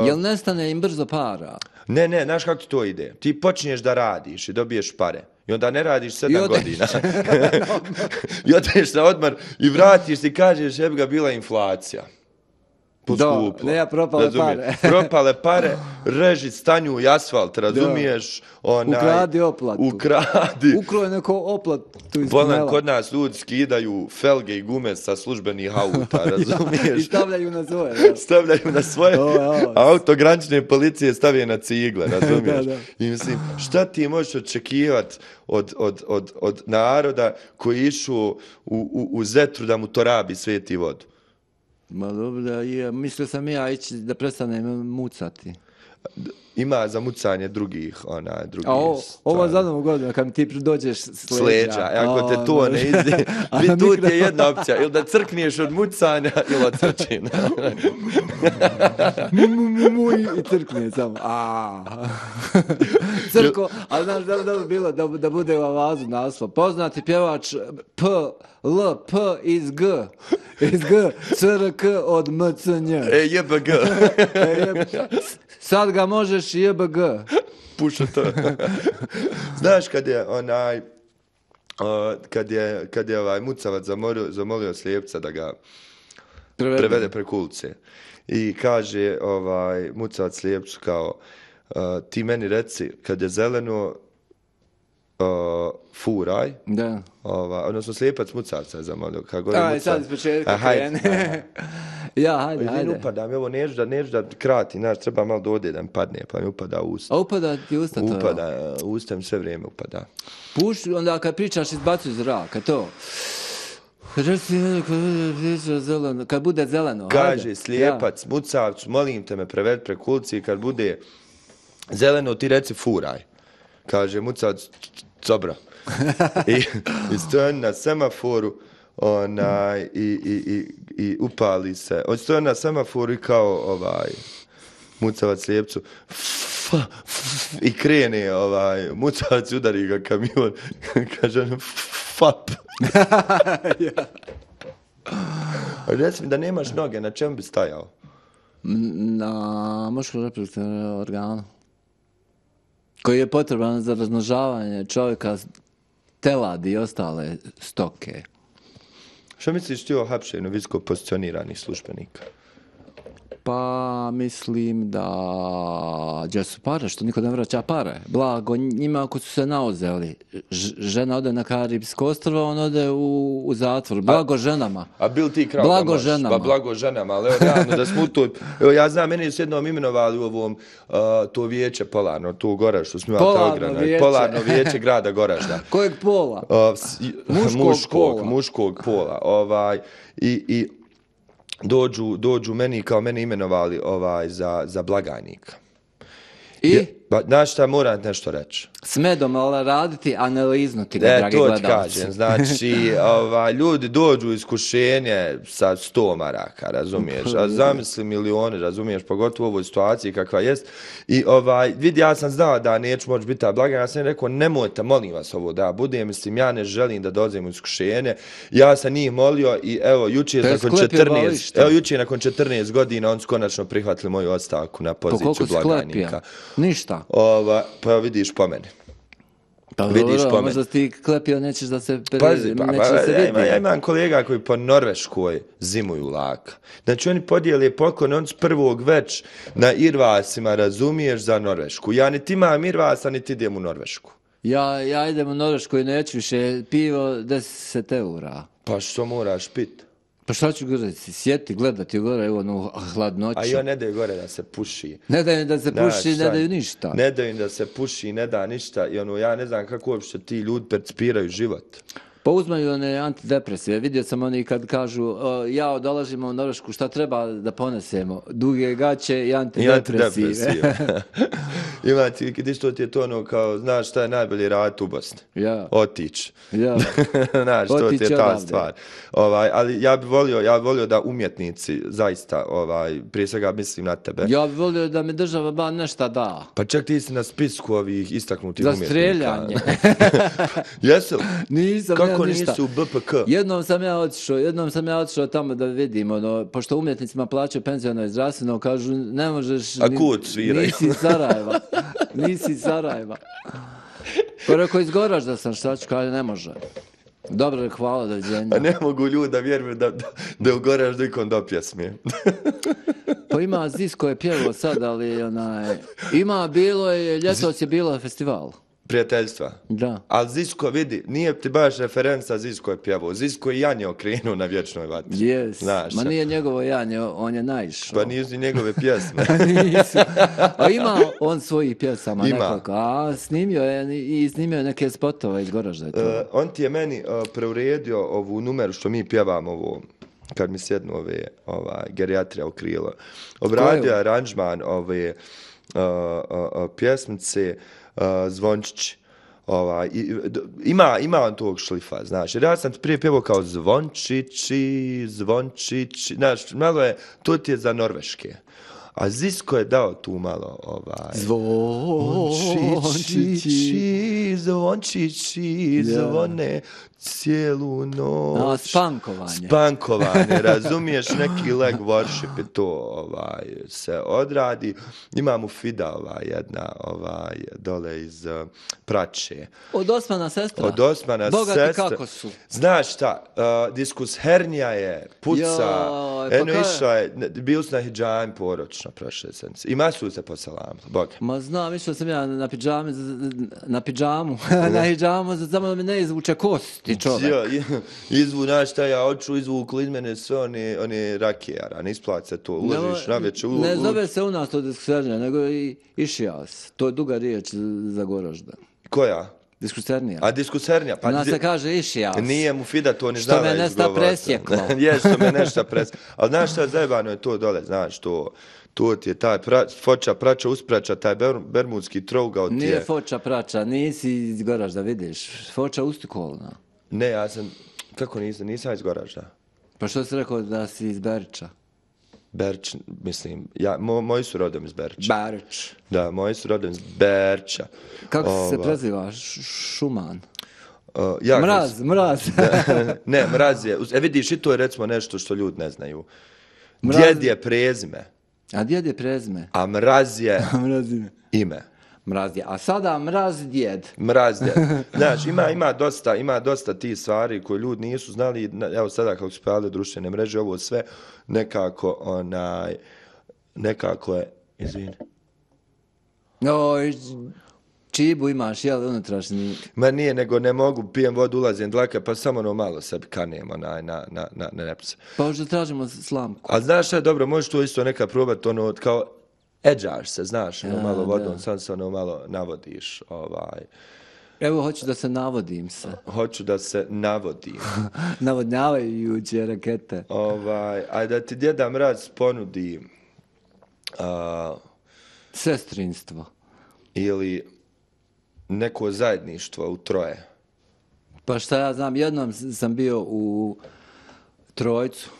Jel nestane im brzo para? Ne, znaš kako ti to ide? Ti počinješ da radiš i dobiješ pare. I onda ne radiš 7 godina. I odeš na odmor i vratiš se i kažeš, jebi ga, bila inflacija. Poskuplo. Ne, propale pare. Propale pare, reži stanju i asfalt, razumiješ? Ukradi oplatu. Ukroj neko oplatu iz tunela. Kod nas ljudi skidaju felge i gume sa službenih auta, razumiješ? I stavljaju na svoje. Stavljaju na svoje. Auto granične policije stavije na cigle, razumiješ? I mislim, šta ti možeš očekivati od naroda koji išu u Zetru da mu to rabi sveti vodu? Ma dobro, mislio sam ja ići da prestanem mucati. ima za mucanje drugih ovo za novu godinu, kad mi ti dođeš s leđa. Ako te to ne izdi, tu ti je jedna opcija, ili da crkniješ od mucanja, ili od crčina. I crkne samo. Crko, ali znaš da bi bilo da bude u avazu naslov. Poznati pjevač P iz G. Iz G, CRK od MCNJ. JBG. Sad ga možeš JBG. Puša to. Znaš kad je ovaj mucavac zamolio slijepca da ga prevede preko ulice. I kaže mucavac slijepcu kao ti meni reci kad je zeleno furaj. Da. Odnosno slijepac mucavca je zamolio. Sad iz početka krene. Ja, hajde. Upada mi ovo, neću da krati, znaš, treba malo dode da mi padne, pa mi upada u usta. A upada ti usta to? Upada, usta mi sve vrijeme upada. Puši, onda kad pričaš izbacuj zraka, to. Kad bude zeleno. Kaže slijepac mucavcu, molim te me preved preko ulici, kad bude zeleno ti reci furaj. Kaže mucavac, dobro. I stoji na semaforu, i upali se. On stoji na semaforu i kao mucavac slijepcu i krene mucavac udari ga kamion, kaže on fap. Reci mi da nemaš noge, na čemu bi stajao? Na muškom reproduktivnom organu koji je potreban za razmnožavanje čovjeka, teladi i ostale stoke. Što misliš ti o hapšenju visoko pozicioniranih službenika? Pa mislim da gdje su pare, što niko ne vraća pare. Blago njima ako su se nauzeli. Žena ode na Karibsko ostrvo, on ode u zatvor. Blago ženama. A bil ti krao blago da ženama. Blago ženama, ali realno da smo tu. Evo ja znam, meni su jednom imenovali u ovom to vijeće Polarno, tu u Goraždu, smo imali Polarno vijeće grada Goražda. Kojeg pola? Muškog pola. I dođu meni kao mene imenovali za blagajnika. I? Znaš šta, moram nešto reći. S medom raditi, analizno ti ga, dragi gledalci. To ti kažem, znači, ljudi dođu iskušenje sa 100 maraka, razumiješ, a zamisli milioni, razumiješ, pogotovo u ovoj situaciji kakva jest. I vidi, ja sam znao da neću moći biti ta blagajna, ja sam rekao, nemojte, molim vas ovo da budem, mislim, ja ne želim da dolazim u iskušenje, ja sam njih molio i evo, jučer nakon 14 godina on su konačno prihvatili moju ostavku na poziciju blagajnika. Ništa. Pa vidiš po meni. Pa dobro, možda ti klepio, nećeš da se vidi. Ja imam kolega koji po Norveškoj zimuju laka. Znači oni podijeli poklon, on s prvog već na Irvasima, razumiješ, za Norvešku. Ja niti imam Irvasa, niti idem u Norvešku. Ja idem u Norvešku i neću više pivo 10 eura. Pa što moraš pit? Pa šta ću gore, sjeti, gledati gore u onu hladnoću. A ne daju gore da se puši. Ne daju da se puši, ne daju ništa. Ne daju da se puši, ne da ništa. I ja ne znam kako uopšte ti ljudi percipiraju život. Pa uzmaju one antidepresive. Vidio sam oni kad kažu, ja dolazimo u Norvešku, šta treba da ponesemo? Duge gaće i antidepresive. Ima ti što ti je to ono kao, znaš šta je najbolji raditi u Bosni? Ja. Otić. Ja. Znaš, to ti je ta stvar. Ali ja bi volio da umjetnici, zaista, prije svega mislim na tebe. Ja bi volio da mi država ba nešto da. Pa čak ti si na spisku ovih istaknutih umjetnika. Za streljanje. Jesu? Nisam. Kako nisu u BPK? Jednom sam ja otišao tamo da vidim, pošto umjetnicima plaćaju penziono i zdravstveno, kažu, ne možeš... A kud sviraju? Nisi iz Sarajeva. Pa rekao, iz Goražda sam, šta ću, kaže, ne može. Dobro, hvala, doviđenja. A ne mogu ljudi da vjeruju da u Goraždu ikom do pjesme. Pa ima Zisko je pjevao sad, ali ima, bilo je, ljetos je bilo festival. Prijateljstva. Da. Ali Zisko, vidi, nije ti baš referenca Zisko je pjevao. Zisko je Janje okrenuo na vječnoj vatri. Yes. Ma nije njegovo Janje, on je naišao. Pa nisu njegove pjesme. Nisu. A ima on svojih pjesama nekako. A snimio je neke spotove iz Goražda. On ti je meni preuredio ovu numeru što mi pjevamo ovo. Kad mi sjednu gerijatra u krilo. Obradio je aranžman pjesmice Zvončići. Ima on tog šlifa, znaš, jer ja sam prije pjevao kao Zvončići, znaš, malo je, to ti je za norveške. A Zisko je dao tu malo, Zvončići, zvone cijelu noć. Spankovanje, razumiješ, neki leg worship je to, se odradi. Imam u Fida, jedna, dole iz Prače. Od Osmana sestra? Od Osmana Bogati sestra. kako su? Znaš šta, diskus hernija je, puca, išla je, bili su na hidžami poročno prošle sedmice. I masu se posalam, Bog. Ma znam, išao sam ja na pidžamu, na hidžamu, samo da mi ne izvuče kosti čovjek. Izvukli iz mene sve one rakijara, ne isplati se to, ulaziš na večer. Ne zove se u nas to diskusternija, nego i išijas. To je duga riječ za Goražda. Koja? Diskusternija. A diskusternija? Pa nas se kaže išijas. Nije mu Fida to ni znala izgovoriti. Što me nešto presjeklo. Je, što me nešto presjeklo. Ali znaš šta, zajebano je to dole, znaš, to ti je taj foča, prača, usprača, taj bermudski trougao ti je. Nije foča, prača, nisi iz Goražda, vidiš. Foča ustikolna. Ne, ja sam, kako nisam iz Goražda. Pa što si rekao da si iz Berića? Berč, mislim, moji su rodom iz Berča. Berić. Da, moji su rodom iz Berča. Kako se preziva? Šuman? Mraz. Ne, Mraz je, vidiš, i to je recimo nešto što ljudi ne znaju. Djed je prezime. A djed je prezime? A Mraz je ime. Mraz je. A sada Mraz djed. Mraz djed. Znaš, ima dosta tih stvari koje ljudi nisu znali. Evo sada kako su pojavile društvene mreže, ovo sve nekako je, izvini. Čibu imaš, jel, unutrašnji? Ma nije, nego ne mogu, pijem vodu, ulazim dlake, pa samo malo sebi kanem na nepse. Pa možda tražimo slamku. A znaš šta je dobro, možeš to isto nekad probati, kao edžaš se, znaš, malo vodom, sam se malo navodiš, Evo, hoću da se navodim se. Hoću da se navodim. Navodnjavajuće rakete. Ajde da ti Djeda Mraz ponudi sestrinstvo. Ili neko zajedništvo u troje. Pa šta ja znam, jednom sam bio u Trojcu.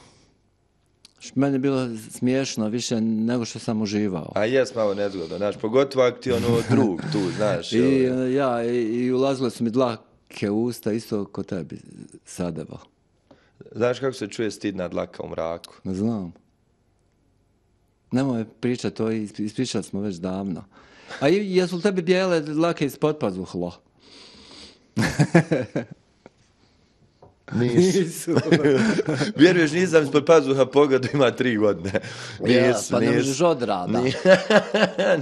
Meni je bilo smiješno više nego što sam uživao. A jes malo nezgodno, znaš, pogotovo ako ti drug tu, znaš. I ulazile su mi dlake u usta, isto ko tebi sadeva. Znaš kako se čuje stidna dlaka u mraku? Znam. Nemoj pričati, to ispričali smo već davno. A jesu li tebi bijele dlake ispod pazuhlo? Nisu. Vjeruješ, nisam ispod pazuha pogledu, ima 3 godine. Pa ne možeš odrada.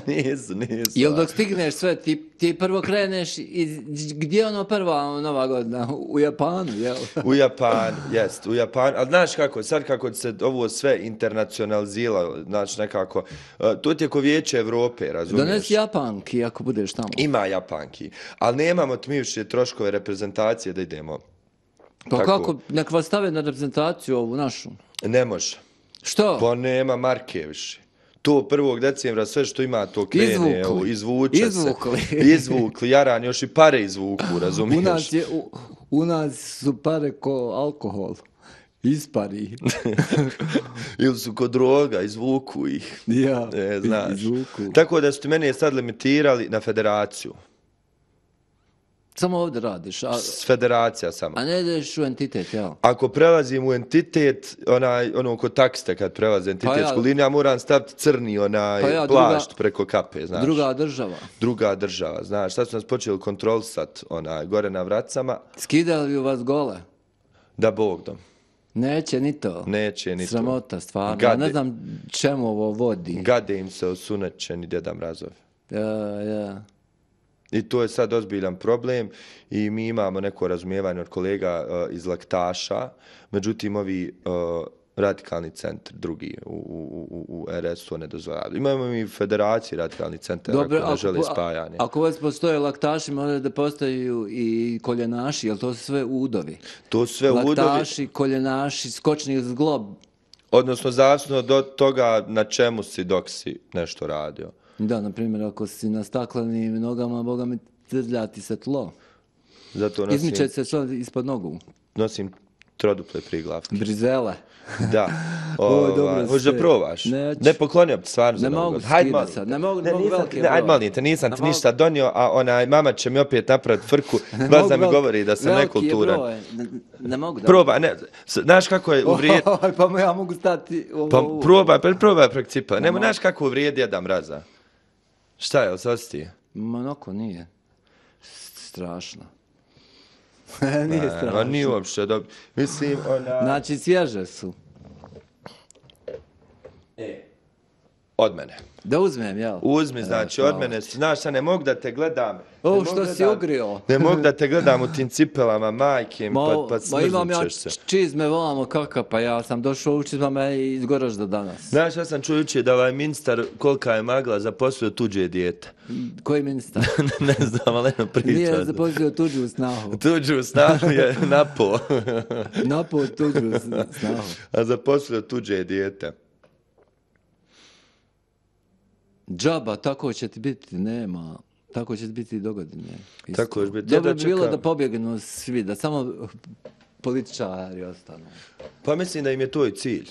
Nisu. Jel dok stigneš sve, ti prvo kreneš, gdje je ono prva Nova godina? U Japanu, jel? U Japanu, jest, u Japanu. Ali znaš kako, sad kako se ovo sve internacionaliziralo, znači nekako, to ti je ko Vijeće Evrope, razumiješ? Donesi Japanki ako budeš tamo. Ima Japanki, ali nemamo tmivše troškove reprezentacije da idemo. Pa kako, nek vas stave na reprezentaciju ovu našu? Ne može. Što? Pa nema marke više. To 1. decembra sve što ima to krene, izvuče se. Izvukli, jaran, još i pare izvuku, razumiješ? U nas su pare ko alkohol. Ispari. Ili su ko droga, izvuku ih. Ja, znaš. izvuku. Tako da su ti mene sad limitirali na federaciju. Samo ovdje radiš. Federacija samo. A ne ideš u entitet, jel? Ako prelazim u entitet, ono kod taksite kad prelaze entitetsku liniju, ja moram staviti crni plašt preko kape, znaš. Druga država. Znaš. Sad su nas počeli kontrolisati gore na vracama. Skidali u vas gole? Da Bog dom. Neće ni to. Sramota, stvarno. Ja ne znam čemu ovo vodi. Gade im se osunećeni Djeda Mrazovi. Ja. I to je sad ozbiljan problem i mi imamo neko razumijevanje od kolega iz Laktaša, međutim ovi radikalni centri drugi u RS-u ne dozvoljavaju. Imamo mi federaciji radikalni centar koji ne žele spajanje. Ako već postoje laktaši, možda da postaju i koljenaši, jer to su sve udovi. To su sve udovi. Laktaši, koljenaši, skočni zglob. Odnosno, zavisno do toga na čemu si dok si nešto radio. Da, na primjer, ako si na staklenim nogama, boga mi trlja ti se tlo. Zato nosim... Izmiče se što ispod nogu. Nosim troduple priglavke. Brizele. Da. Hoćeš da probaš? Ne poklonio bi ti stvarno za Novu godinu. Hajde molim. Ne mogu velike broj. Hajde molim te, nisam ti ništa donio, a mama će mi opet napraviti frku, baš da mi govori da sam nekulturan. Ne mogu da... Probaj, ne, znaš kako je uvrijed... Pa ja mogu stati... Pa probaj prek cipela. Nemo, znaš kako uvrijedi jedan mraza? Šta je, osjeći? Noko nije. Strašno. Nije strašno. Nije uopšte dobro. Mislim, Znači, svježe su. Od mene. Da uzmem, jel? Uzmi, znači, od mene. Znaš, sad ne mogu da te gledam. Što si ugrio? Ne mogu da te gledam u tim cipelama, majke, pa smrznućeš se. Čizme volamo kaka, pa ja sam došao u čizmama iz Goražda danas. Znaš, ja sam čuo jučer da ovaj ministar, kolika je magla, zaposlio tuđe dijete. Koji ministar? Ne znam, ali jedno priča. Nije zaposlio tuđu snahu. Tuđu snahu je napao. Napao tuđu snahu. A zaposlio tuđe dijete. Džaba, tako će ti biti, nema. Tako će ti biti i dogodine. Tako će biti. Dobro bi bilo da pobjegnu svi, da samo političari ostanu. Pa mislim da im je to i cilj.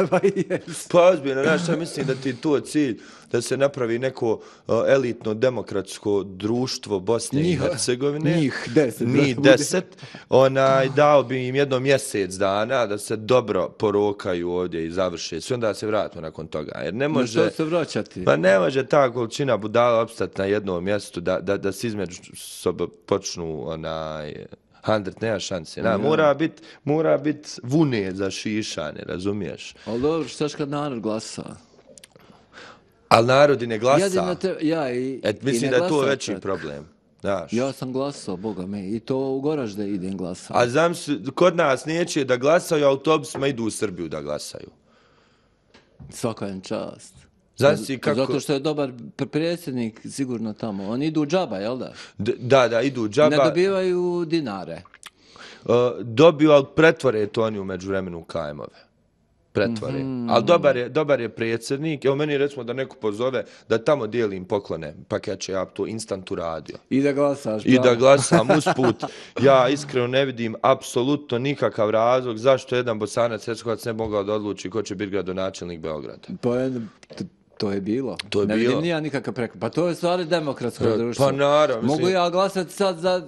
Pa jes. Pa ozbiljno, znaš šta mislim da ti je to cilj, da se napravi neko elitno demokratsko društvo Bosne i Hercegovine. Njih 10. Njih 10. Dao bi im jedno mjesec dana da se dobro porokaju ovdje i završe. Sve onda se vratimo nakon toga. Jer ne može... Što se vraćati? Pa ne može ta količina budala opstati na jednom mjestu da se između sobe počnu handret, nema šanse. Mora bit vune za šišane, razumiješ? Ali dobro, štaš kad narod glasa? Ali narod i ne glasa. Mislim da je to veći problem. Znaš. Ja sam glasao, boga me, i to u Goražde idem glasao. A znam se, kod nas neće da glasaju, autobusima idu u Srbiju da glasaju. Svaka im čast. Zato što je dobar predsjednik sigurno tamo. Oni idu džaba, jel da? Da, idu džaba. Ne dobivaju dinare. Dobiju, ali pretvore to oni u međuvremenu kajmove. Pretvore. Ali dobar je predsjednik. Evo meni recimo da neko pozove da tamo dijelim poklone, pakeće, ja to instant uradio. I da glasaš. I da glasam usput. Ja iskreno ne vidim apsolutno nikakav razlog zašto jedan Bosanac Hercegovac ne mogao da odluči ko će biti gradonačelnik Beograda. To je bilo. Ne vidim nija nikakav preko. Pa to je stvari demokratsko društvo. Pa naravno. Mogu ja glasati sad za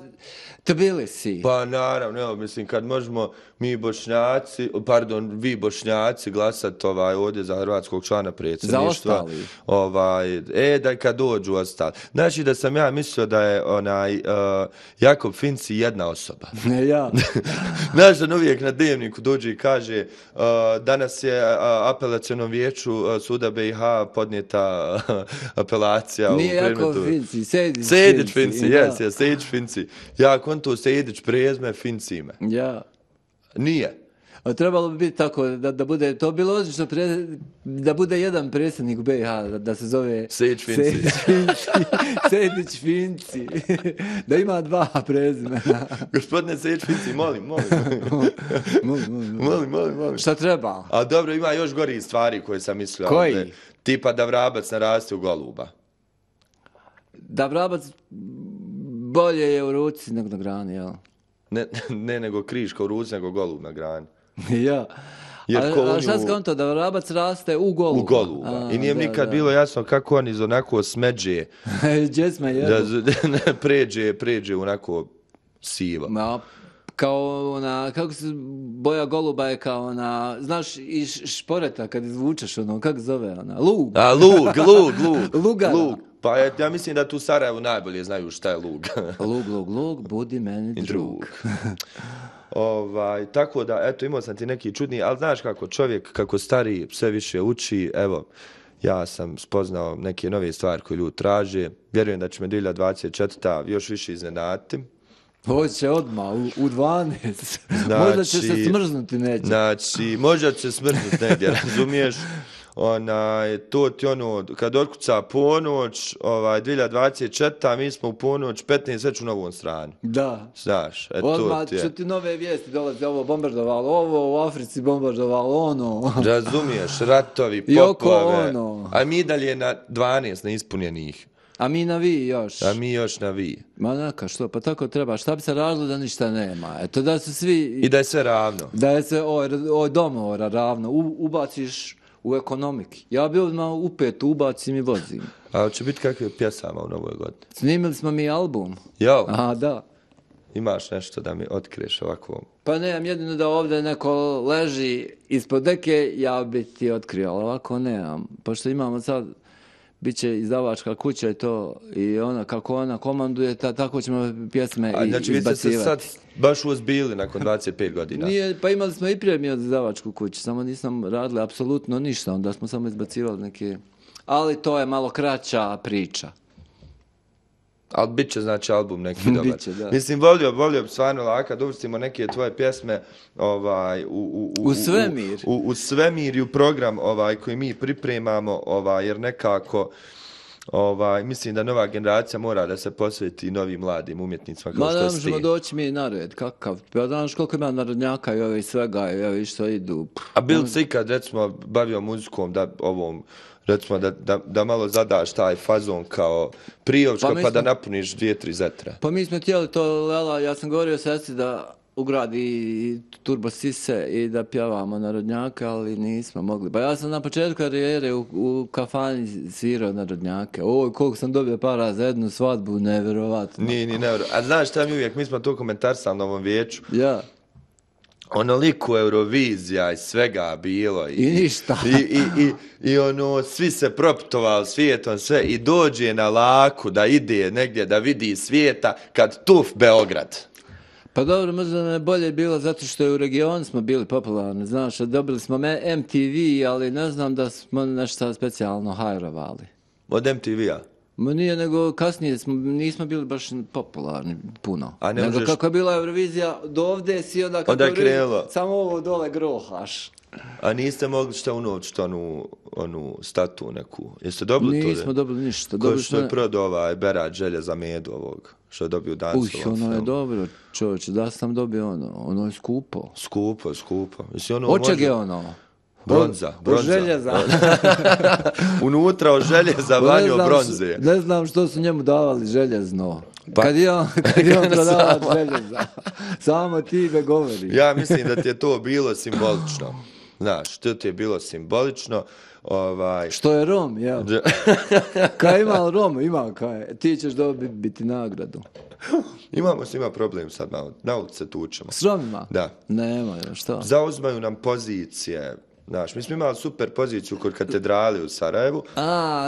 Tbilisi. Pa naravno, mislim, kad možemo vi Bošnjaci glasati ovdje za hrvatskog člana predsjedništva. Za ostali. Da kad dođu ostali. Znači da sam ja mislio da je Jakob Finci jedna osoba. Ne ja. Znaš da uvijek na dnevniku dođe i kaže danas je apelacionom vijeću suda BiH podnijeta apelacija. Nije Jakob Finci, Sejdić Finci, Sejdić Finci. Ja kontu Sejdić prezme Finci ime. Ja. Nije. A trebalo bi biti tako da bude, to bilo odlično da bude jedan predsjednik u BiH, da se zove Sejdić Finci. Sejdić Finci. Da ima dva prezimena. Gospodine Sejdić Finci, molim. Molim. Šta treba? A dobro, ima još gori stvari koje sam mislio. Koji? Tipa da vrabac naraste u goluba. Da vrabac bolje je u ruci nego na grani, jel? Ne nego kriška u ruci, nego golub na grani. Ja. A šta skonto, da vrabac raste u goluba? U goluba. I nije mi nikad bilo jasno kako on iz onako smeđe pređe onako siva. Kao kako se boja goluba je kao ona, znaš, iz šporeta kad izvučeš kako zove lug. Lug. Lugara. Pa ja mislim da tu u Sarajevu najbolje znaju šta je lug. Lug, budi meni drug. Tako da, eto, imao sam ti neki čudni, ali znaš kako čovjek, kako stari, sve više uči, evo, ja sam spoznao neke nove stvari koje ljudi traže, vjerujem da će me 2024. još više iznenaditi. Hoće odmah, u 12. Možda će se smrznuti neće. Znači, možda će se smrznuti negdje, razumiješ? to ti kad otkuca ponoć, 2024, mi smo u ponoć 15 već u novom stranu. Da. Znaš, odmah što ti nove vijesti dolaze, ovo bombardovalo, ovo u Africi bombardovalo, ono. Razumiješ, ratovi, poplave, a mi dalje na 12 neispunjenih. A mi na vi još. A mi još na vi. Ma neka, što, pa tako treba. Šta bi se radilo da ništa nema? Eto, da su svi... I da je sve ravno. Da je sve domovora ravno. Ubaciš u ekonomiki. Ja bi odmah upet ubacim i vozim. A će biti kakve pjesama u novoj godini? Snimili smo mi album. Jo. Aha, da. Imaš nešto da mi otkriješ ovako? Pa nemam, jedino da ovdje neko leži ispod deke, ja bi ti otkrio, ali ovako nemam. Pošto imamo sad... Biće izdavačka kuća i to, i ona, kako ona komanduje, tako ćemo pjesme izbacivati. Znači vi ste se sad baš uzbili nakon 25 godina? Nije, pa imali smo i prije mi od izdavačku kuću, samo nisam radili apsolutno ništa, onda smo samo izbacivali neke... Ali to je malo kraća priča. Ali bit će, znači, album neki dobar. Biće, da. Mislim, volio bi stvarno laka da uvrstimo neke tvoje pjesme u svemir. U svemir i u program koji mi pripremamo, jer nekako... mislim da nova generacija mora da se posveti novim mladim umjetnicima kao što ste. Ma ne možemo doći mi na red, kakav. Pa znaš koliko ima narodnjaka i ovi svega i ovi što idu. A bil se ikad, recimo, bavio muzikom da recimo da malo zadaš taj fazon kao Priovčka pa da napuniš 2-3 zetre? Pa mi smo htjeli to, Lela, ja sam govorio sestri da ugradi turbo sise i da pjevamo narodnjake, ali nismo mogli. Pa ja sam na početku karijere u kafani svirao narodnjake. Oj, koliko sam dobio para za jednu svadbu, nevjerovatno. Nije nevjerovatno. A znaš šta mi uvijek, mi smo to komentarsali na ovom vijeću. Ja. Onoliko Eurovizija i svega bilo. I ništa. I svi se proputovali svijetom, sve, i dođe na laku da ide negdje da vidi svijeta kad tuf Beograd. Pa dobro, možda nam je bolje bilo zato što je u regionu smo bili popularni, znaš, dobili smo MTV, ali ne znam da smo nešto specijalno hajrovali. Od MTV-a? Ma nije, nego kasnije nismo bili baš popularni puno. A ne nego možeš... kako je bila Eurovizija, do ovdje si onda je krenulo. Samo ovo dole grohaš. A niste mogli šta unovčiti onu statu neku? Jeste dobili to? Nismo dobili ništa. Ko što je prodao Berat Željeza Medu ovog, što je dobio Dancovom ono je dobro, čovječe, da sam dobio ono je skupo. Skupo. Od čeg je ono? Bronza. Od željeza. Unutra od željeza vanjo bronze. Ne znam što su njemu davali željezno. Pa, kad je on prodavao željeza. Samo ti me govori. Ja mislim da ti je to bilo simbolično. Znaš, to ti je bilo simbolično. Što je Rom, ja. Kaj ima Rom, ima kaj. Ti ćeš dobiti nagradu. Imamo s njima problem sad malo. Na ulici se tučemo. S Romima? Da. Nema, što? Zauzmaju nam pozicije. Znaš, mi smo imali super poziciju kod katedrale u Sarajevu.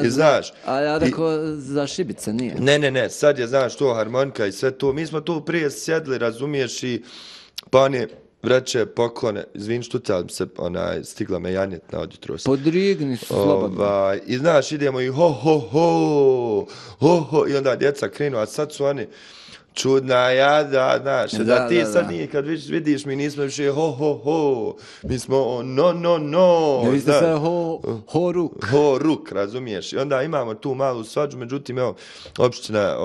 Znaš, a ja rekao za Šibice nije. Ne, sad je, znaš, to harmonika i sve to. Mi smo tu prije sjedli, razumiješ, i pa on je vreće poklone, izvin štucali se, stigla me janjetna od jutros. Podrigni su slobodno. I znaš, idemo i ho, i onda djeca krenu, a sad su oni čudna jada, znaš, da ti sad nije, kad vidiš, mi nismo više ho, mi smo no. Vi ste sve ho ruk, razumiješ, i onda imamo tu malu svađu, međutim, evo, opština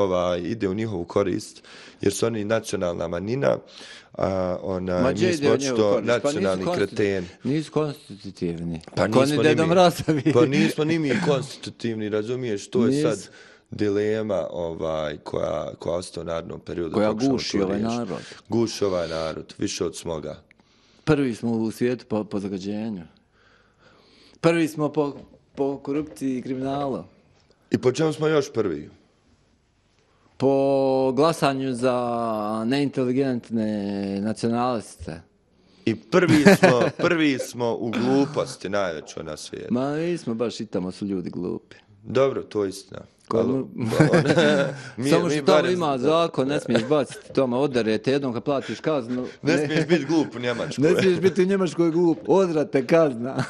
ide u njihovu korist, jer su oni nacionalna manjina, mi smo očito nacionalni kreteni. Nisu konstitutivni. Pa nismo ni mi konstitutivni, razumiješ, to je sad dilema koja ostaje u narodnom periodu. Koja guši ovaj narod. Guši ovaj narod, više od smoga. Prvi smo u svijetu po zagađenju. Prvi smo po korupciji i kriminalu. I po čemu smo još prvi? Po glasanju za neinteligentne nacionaliste. I prvi smo u gluposti najvećoj na svijetu. Ma nismo baš, i tamo su ljudi glupi. Dobro, to je istina. Samo što tamo ima zakon, ne smiješ baciti tamo, odarete jednom kad platiš kaznu. Ne smiješ biti glup u Njemačkoj. Ne smiješ biti u Njemačkoj glup, odrate kazna.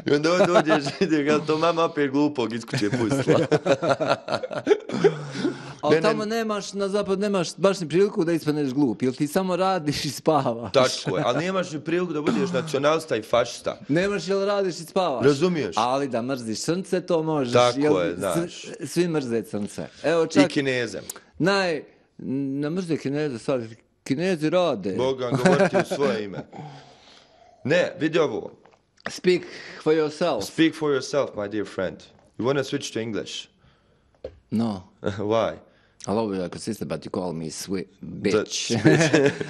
I onda dođeš, kad to mama opet glupog iz kuće pustila. Ali tamo nemaš, na zapad nemaš baš ni priliku da ispaneš glup, jer ti samo radiš i spavaš. Tako je, ali nemaš ni priliku da budeš nacionalista i fašista. Nemaš jel radiš i spavaš. Razumiješ? Ali da mrziš crnce, to možeš. Tako je, znaš. Svi mrze crnce. Evo čak... I Kineze. Ne mrze Kineze sad, Kinezi rade. Boga, govoriti u svoje ime. Ne, vidi ovo. Speak for yourself. Speak for yourself, my dear friend. You want to switch to English? No. Why? I love you like a sister, but you call me sweet bitch.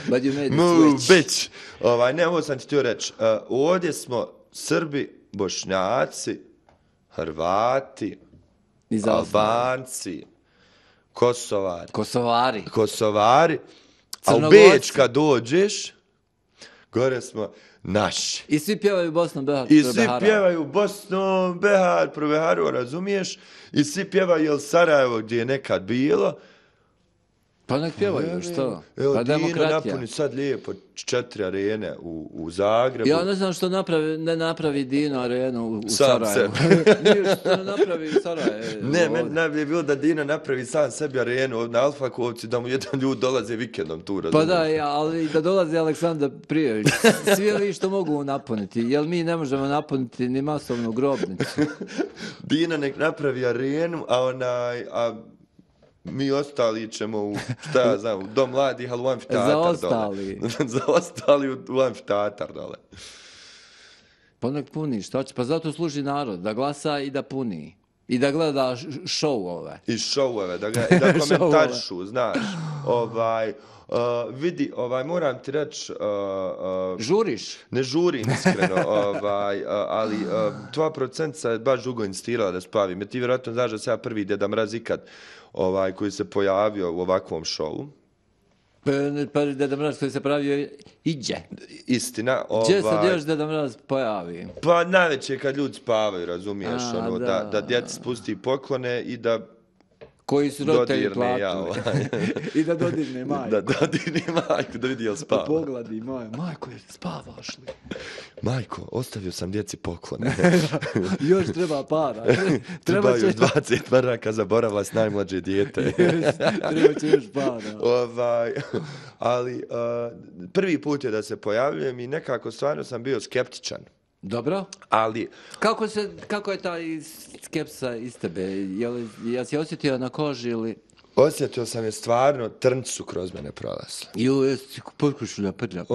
But you made it Move, switch. bitch. Ne, ovo sam ti htio reći. Ovdje smo Srbi, Bošnjaci, Hrvati, Albanci, Kosovari. A u Beč kad dođeš, gore smo naši. I svi pjevaju Bosnom, Behar, I svi pjevaju Bosnom, Behar, pro Beharu, razumiješ? I svi pjevaju jel Sarajevo gdje je nekad bilo. Pa nek pjevaju, što? Evo, Pa Dino demokratija. napuni sad lijepo 4 arene u Zagrebu. Ja ne znam što ne napravi Dino arenu u sam Sarajevu. Nije što ne napravi Sarajevo. Ne, meni najbolje bilo da Dino napravi sam sebi arenu na Alfakovci, da mu jedan ljud dolaze vikendom tu, razumiješ? Pa da, ali da dolazi Aleksandar Prijević. Svi ovi što mogu napuniti, jer mi ne možemo napuniti ni masovnu grobnicu. Dino nek napravi arenu, a mi ostali ćemo u, šta ja znam, u Dom mladih, ali u amfiteatar Zaostali. dole. Zaostali u amfiteatar dole. Pa nek puni, šta će? Pa zato služi narod, da glasa i da puni. I da gleda šouove. I šouove, da komentarišu, znaš. Vidi, moram ti reći... Žuriš? Ne žurim, iskreno, ali tvoja producentica je baš dugo insistirala da spavim. Jer ti vjerojatno znaš da sam ja prvi Deda Mraz ikad koji se pojavio u ovakvom šovu. Pa Deda Mraz koji se pojavio iđe. Istina. Gdje se još Deda Mraz pojavi? Pa najveće kad ljudi spavaju, razumiješ, da djeca spusti poklone i da koji su roditelji platili. I da dodirne majku. Da dodirne majku, da vidi jel spava. Pogledi majko, spavaš li? Majko, ostavio sam djeci poklone. Još treba para. Treba još 20 maraka, zaboravila s najmlađe dijete. Treba će još para. Ali prvi put je da se pojavljujem i nekako stvarno sam bio skeptičan. Dobro. Ali... Kako je ta skepsa iz tebe? Jel si osjetio na koži ili... Osjetio sam je stvarno, trnci su kroz mene prolazili. Jesi potkušulja prđa.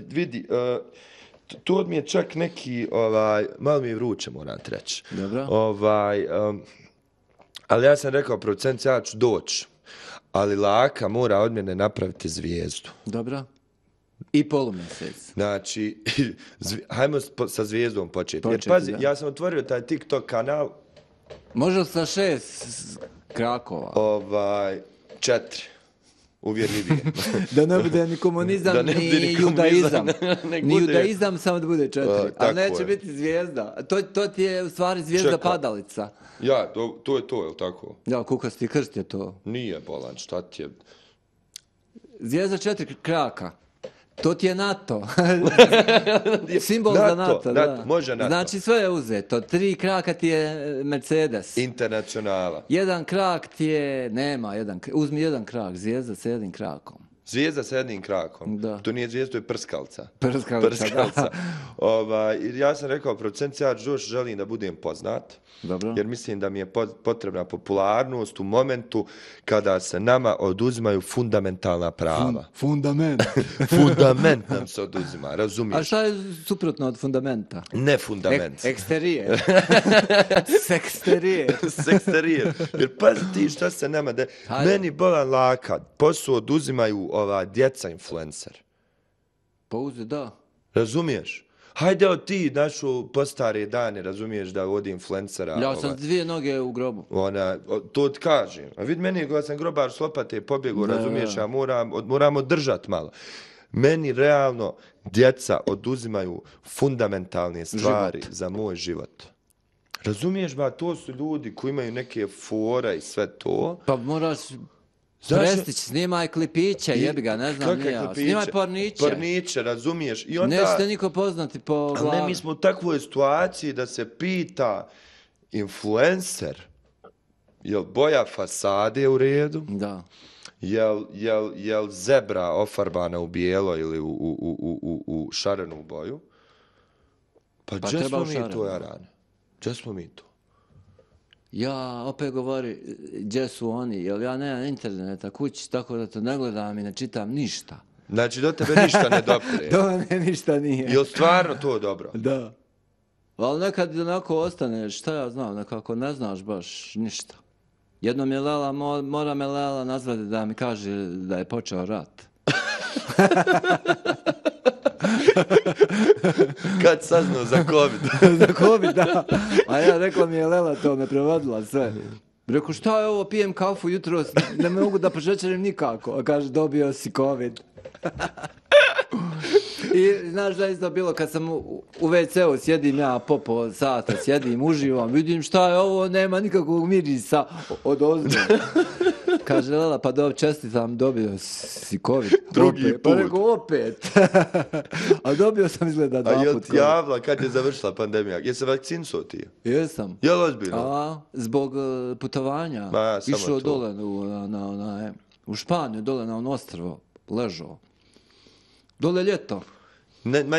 Vidi, to mi je čak neki, malo mi je vruće, moram ti reći. Dobro. Ali ja sam rekao, producent, ja ću doći. Ali Laka mora od mene napraviti zvijezdu. Dobro. I polumjesec. Znači, hajmo sa zvijezdom početi. Jer pazi, ja sam otvorio taj TikTok kanal. Može sa 6 krakova. 4. Uvjerljivije. Da ne bude ni komunizam, ni judaizam. Ni judaizam, samo da bude 4. Ali neće biti zvijezda. To ti je u stvari zvijezda padalica. Ja, to je to, je li tako? Ja, kukasti krst je to. Nije bolan, šta ti je? Zvijezda 4 kraka. To ti je NATO. Simbol za NATO, da. Može NATO. Znači sve je uzeto. 3 kraka ti je Mercedes. Internacionala. 1 krak ti je... Uzmi 1 krak. Zvijezda sa 1 krakom. Zvijezda sa 1 krakom? Da. To nije zvijezda, to je prskalca. Prskalca. Ja sam rekao, producent, ja još želim da budem poznat. Dobro. Jer mislim da mi je potrebna popularnost u momentu kada se nama oduzimaju fundamentalna prava. Fundament. Fundament nam se oduzima, razumiješ? A šta je suprotno od fundamenta? Ne fundament. Eksterijer. Seksterijer. Jer pazi ti šta se nama... Meni bolan Laka, posao oduzimaju djeca influencer. Pa da. Razumiješ? Hajde od ti našu postare dane, razumiješ da vodi influencera. Ja sam 2 noge u grobu. To ti kažem. A vidi meni, kada sam grobar s lopate pobjegu, razumiješ, ja moram održati malo. Meni realno djeca oduzimaju fundamentalne stvari za moj život. Razumiješ, ba, to su ljudi koji imaju neke fora i sve to. Pa moraš Prestić, snimaj klipiće, jebi ga, ne znam ni ja. Snimaj porniće. Porniće, razumiješ. I onda, nećete niko poznati po glavi. Ne, mi smo u takvoj situaciji da se pita influencer, jel boja fasade u redu? Da. Jel zebra ofarbana u bijelo ili u šarenu boju? Pa gdje smo mi to, Jarane? Gdje smo mi to? Ja opet govori gdje su oni, jer ja nemam interneta kući, tako da to ne gledam i ne čitam ništa. Znači do tebe ništa ne dopire? Do mene ništa nije. Jel stvarno to dobro? Da. Ali nekad onako ostane, šta ja znam, nekako ne znaš baš ništa. Jednom je Lela, mora me Lela nazvati da mi kaže da je počeo rat. Kad saznao za COVID? Za COVID, da. A ja rekla mi je Lela, to me prevodila sve. Rekao, šta je ovo, pijem kafu jutro, ne mogu da pošećerim nikako. A kaže, dobio si COVID. I znaš da je isto bilo kad sam u WC-u sjedim ja po sata, sjedim, uživam, vidim šta je ovo, nema nikakvog mirisa od ozbe. Kaže Lela, pa čestitam, dobio si COVID. Drugi put. Pa rekao, opet. A dobio sam izgleda 2 puta. A jel ti javila kad je završila pandemija? Jesi se vakcinisao ti? Jesam. Jel ozbiljno? Zbog putovanja. Išao dole u Španiju, dole na ono ostrvo, ležao. Dole ljeto.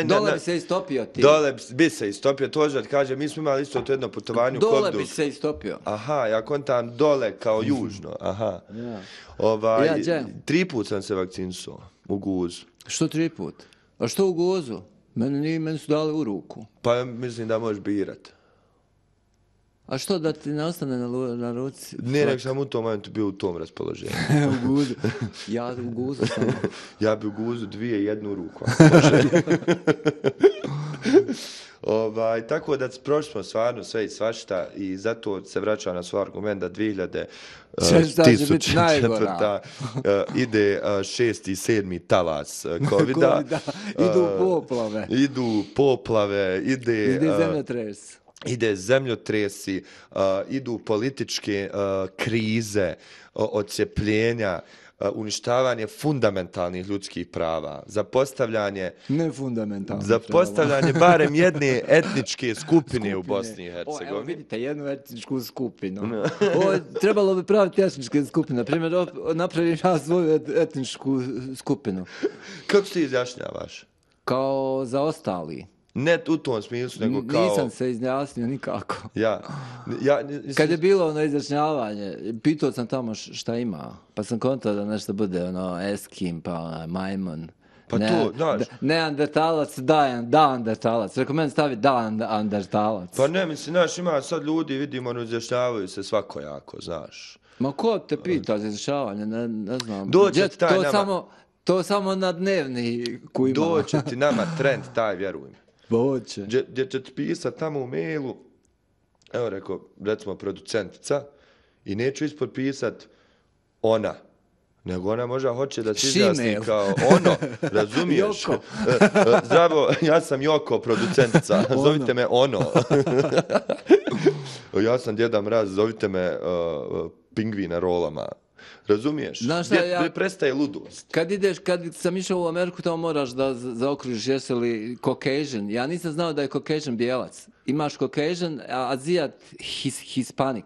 Dole bi se istopio ti. Dole bi se istopio, tožer kaže, mi smo imali isto to jedno putovanje u Dole COVID-u. Bi se istopio. Aha, ja kontam dole kao južno, aha. Ja. 3 put sam se vakcinisao u guzu. Što 3 put? A što u guzu? Meni su dali u ruku. Pa mislim da možeš birat. A što da ti ne ostane na ruci? Ne, nek sam u tom momentu bio u tom raspoloženju. U guzu. Ja u guzu sam. Ja bi u guzu 2 i 1 ruku. Tako da prošli smo stvarno sve i svašta i zato se vraća na svoj argument da 2004. Ide 6. i 7. talas COVID-a. Idu poplave. Ide zemljotres. Ide zemljotresi, idu političke krize, odcepljenja, uništavanje fundamentalnih ljudskih prava, zapostavljanje barem jedne etničke skupine u Bosni i Hercegovini. Evo vidite, jednu etničku skupinu. Trebalo bi praviti etničke skupine. Na primjer, napravim ja svoju etničku skupinu. Kako se izjašnjavaš? Kao zaostali. Ne u tom smislu, nego kao... Nisam se izjasnio nikako. Kad je bilo ono izjašnjavanje, pitao sam tamo šta ima, pa sam kontao da nešto bude Eskim, pa majmun. Pa to, znaš... Neandertalac, Neandertalac. Rekao meni stavi Neandertalac. Pa ne, mislim, znaš, ima sad ljudi, vidimo, izjašnjavaju se svakojako, znaš. Ma ko te pita za izjašnjavanje, ne znam. Doće ti taj nama... To samo na dnevni koji ima. Doće ti nama trend taj, vjeruj mi. Boće. Gdje će ti pisat tamo u mailu, evo rekao, recimo producentica, i neću ispod pisat ona, nego ona možda hoće da se izjasni kao ono, razumiješ? Joko. Zdravo, ja sam Joko, producentica, zovite me ono. Ja sam Djeda Mraz, zovite me pingvi na rolama. Razumiješ? Gdje prestaje ludost? Kad sam išao u Ameriku, tamo moraš da zaokružiš jesi li Caucasian. Ja nisam znao da je Caucasian bijelac. Imaš Caucasian, a Azijat Hispanic.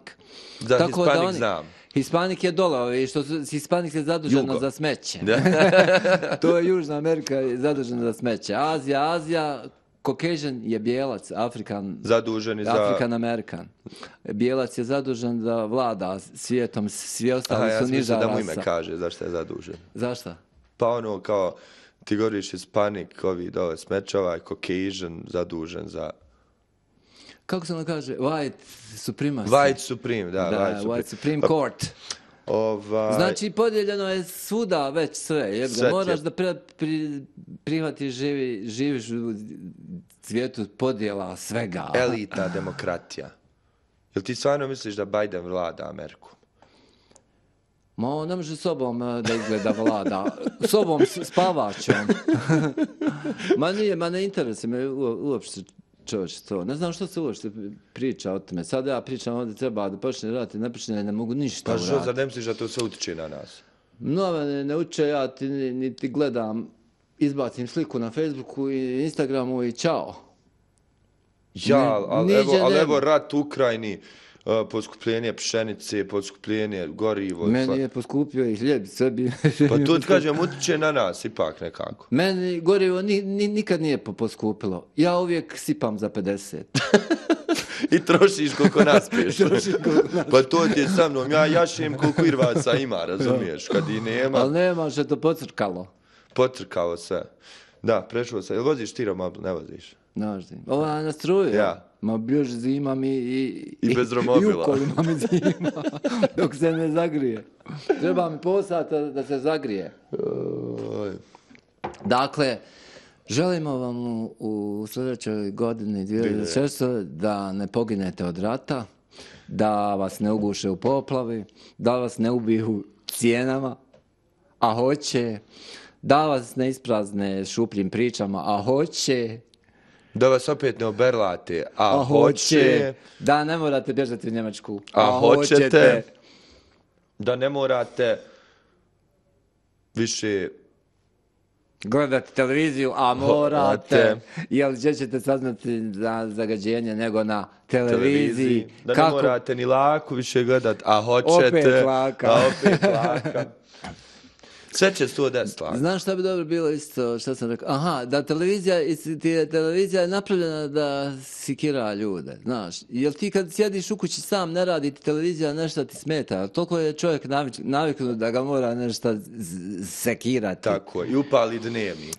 Da, tako Hispanic znam. Hispanic je dole, Hispanic je zaduženo za smeće. To je Južna Amerika zadužena za smeće. Azija, Caucasian je bijelac, African American. Bijelac je zadužen da vlada svijetom, svi ostali su niža rasa. Da mu ime kaže zašto je zadužen. Zašto? Pa ono kao, ti govoriš Hispanic, ovi dole smećova, Caucasian zadužen za... Kako se ono kaže? White supremacy. White Supreme, da. White Supreme Court. Znači, podijeljeno je svuda već sve. Moraš da prihvatiš, živiš u svijetu podjela svega. Elita demokratija. Jel ti stvarno misliš da Biden vlada Ameriku? Ma on ne može sobom da izgleda vlada. Sobom spavačom. Ma ne interesuje me uopšte Čovječ, to. Ne znam što se uopšte priča o tome. Sad ja pričam ovdje treba da počne rat i ne počne, ne mogu ništa uraditi. Pa što, zar ne misliš da to sve utiče na nas? No, ne uče, ja niti gledam, izbacim sliku na Facebooku i Instagramu i čao. Ja, ali evo rat u Ukrajini, poskupljenje pšenice, poskupljenje gorivo. Meni je poskupio i hljeb sebi. Pa to ti kažem, utiče na nas ipak nekako. Meni gorivo nikad nije poskupilo. Ja uvijek sipam za 50. I trošiš koliko naspiješ. Pa to ti je sa mnom, ja jašem koliko irvaca ima, razumiješ, kad i nema. Ali nema što je to pocrkalo. Pocrkalo se. Da, prešlo se. Jel voziš ti romobil? Ne voziš? Naždim. Ova je na struju. Ja. Ma još zima mi i bez romobila. I u kolima mi zima, dok se ne zagrije. Treba mi pol sata da se zagrije. Dakle, želimo vam u sljedećoj godini 2006 da ne poginete od rata, da vas ne uguše u poplavi, da vas ne ubiju cijenama, a hoće, da vas ne isprazne šupljim pričama, a hoće, da vas opet ne oberlate, a hoće, da ne morate bježati u Njemačku, a hoćete, da ne morate više gledati televiziju, a morate. Jel gdje ćete saznati za zagađenje nego na televiziji? Da ne morate ni laku više gledati, a hoćete. Opet laka. A opet laka. Sve će 110 laka. Znaš šta bi dobro bilo isto, šta sam rekao? Aha, da televizija je napravljena da sikira ljude, znaš. Jel ti kad sjediš u kući sam, ne radi ti televizija, nešto ti smeta. Toliko je čovjek naviknut da ga mora nešto sekirati. Tako, i upali dnevnik.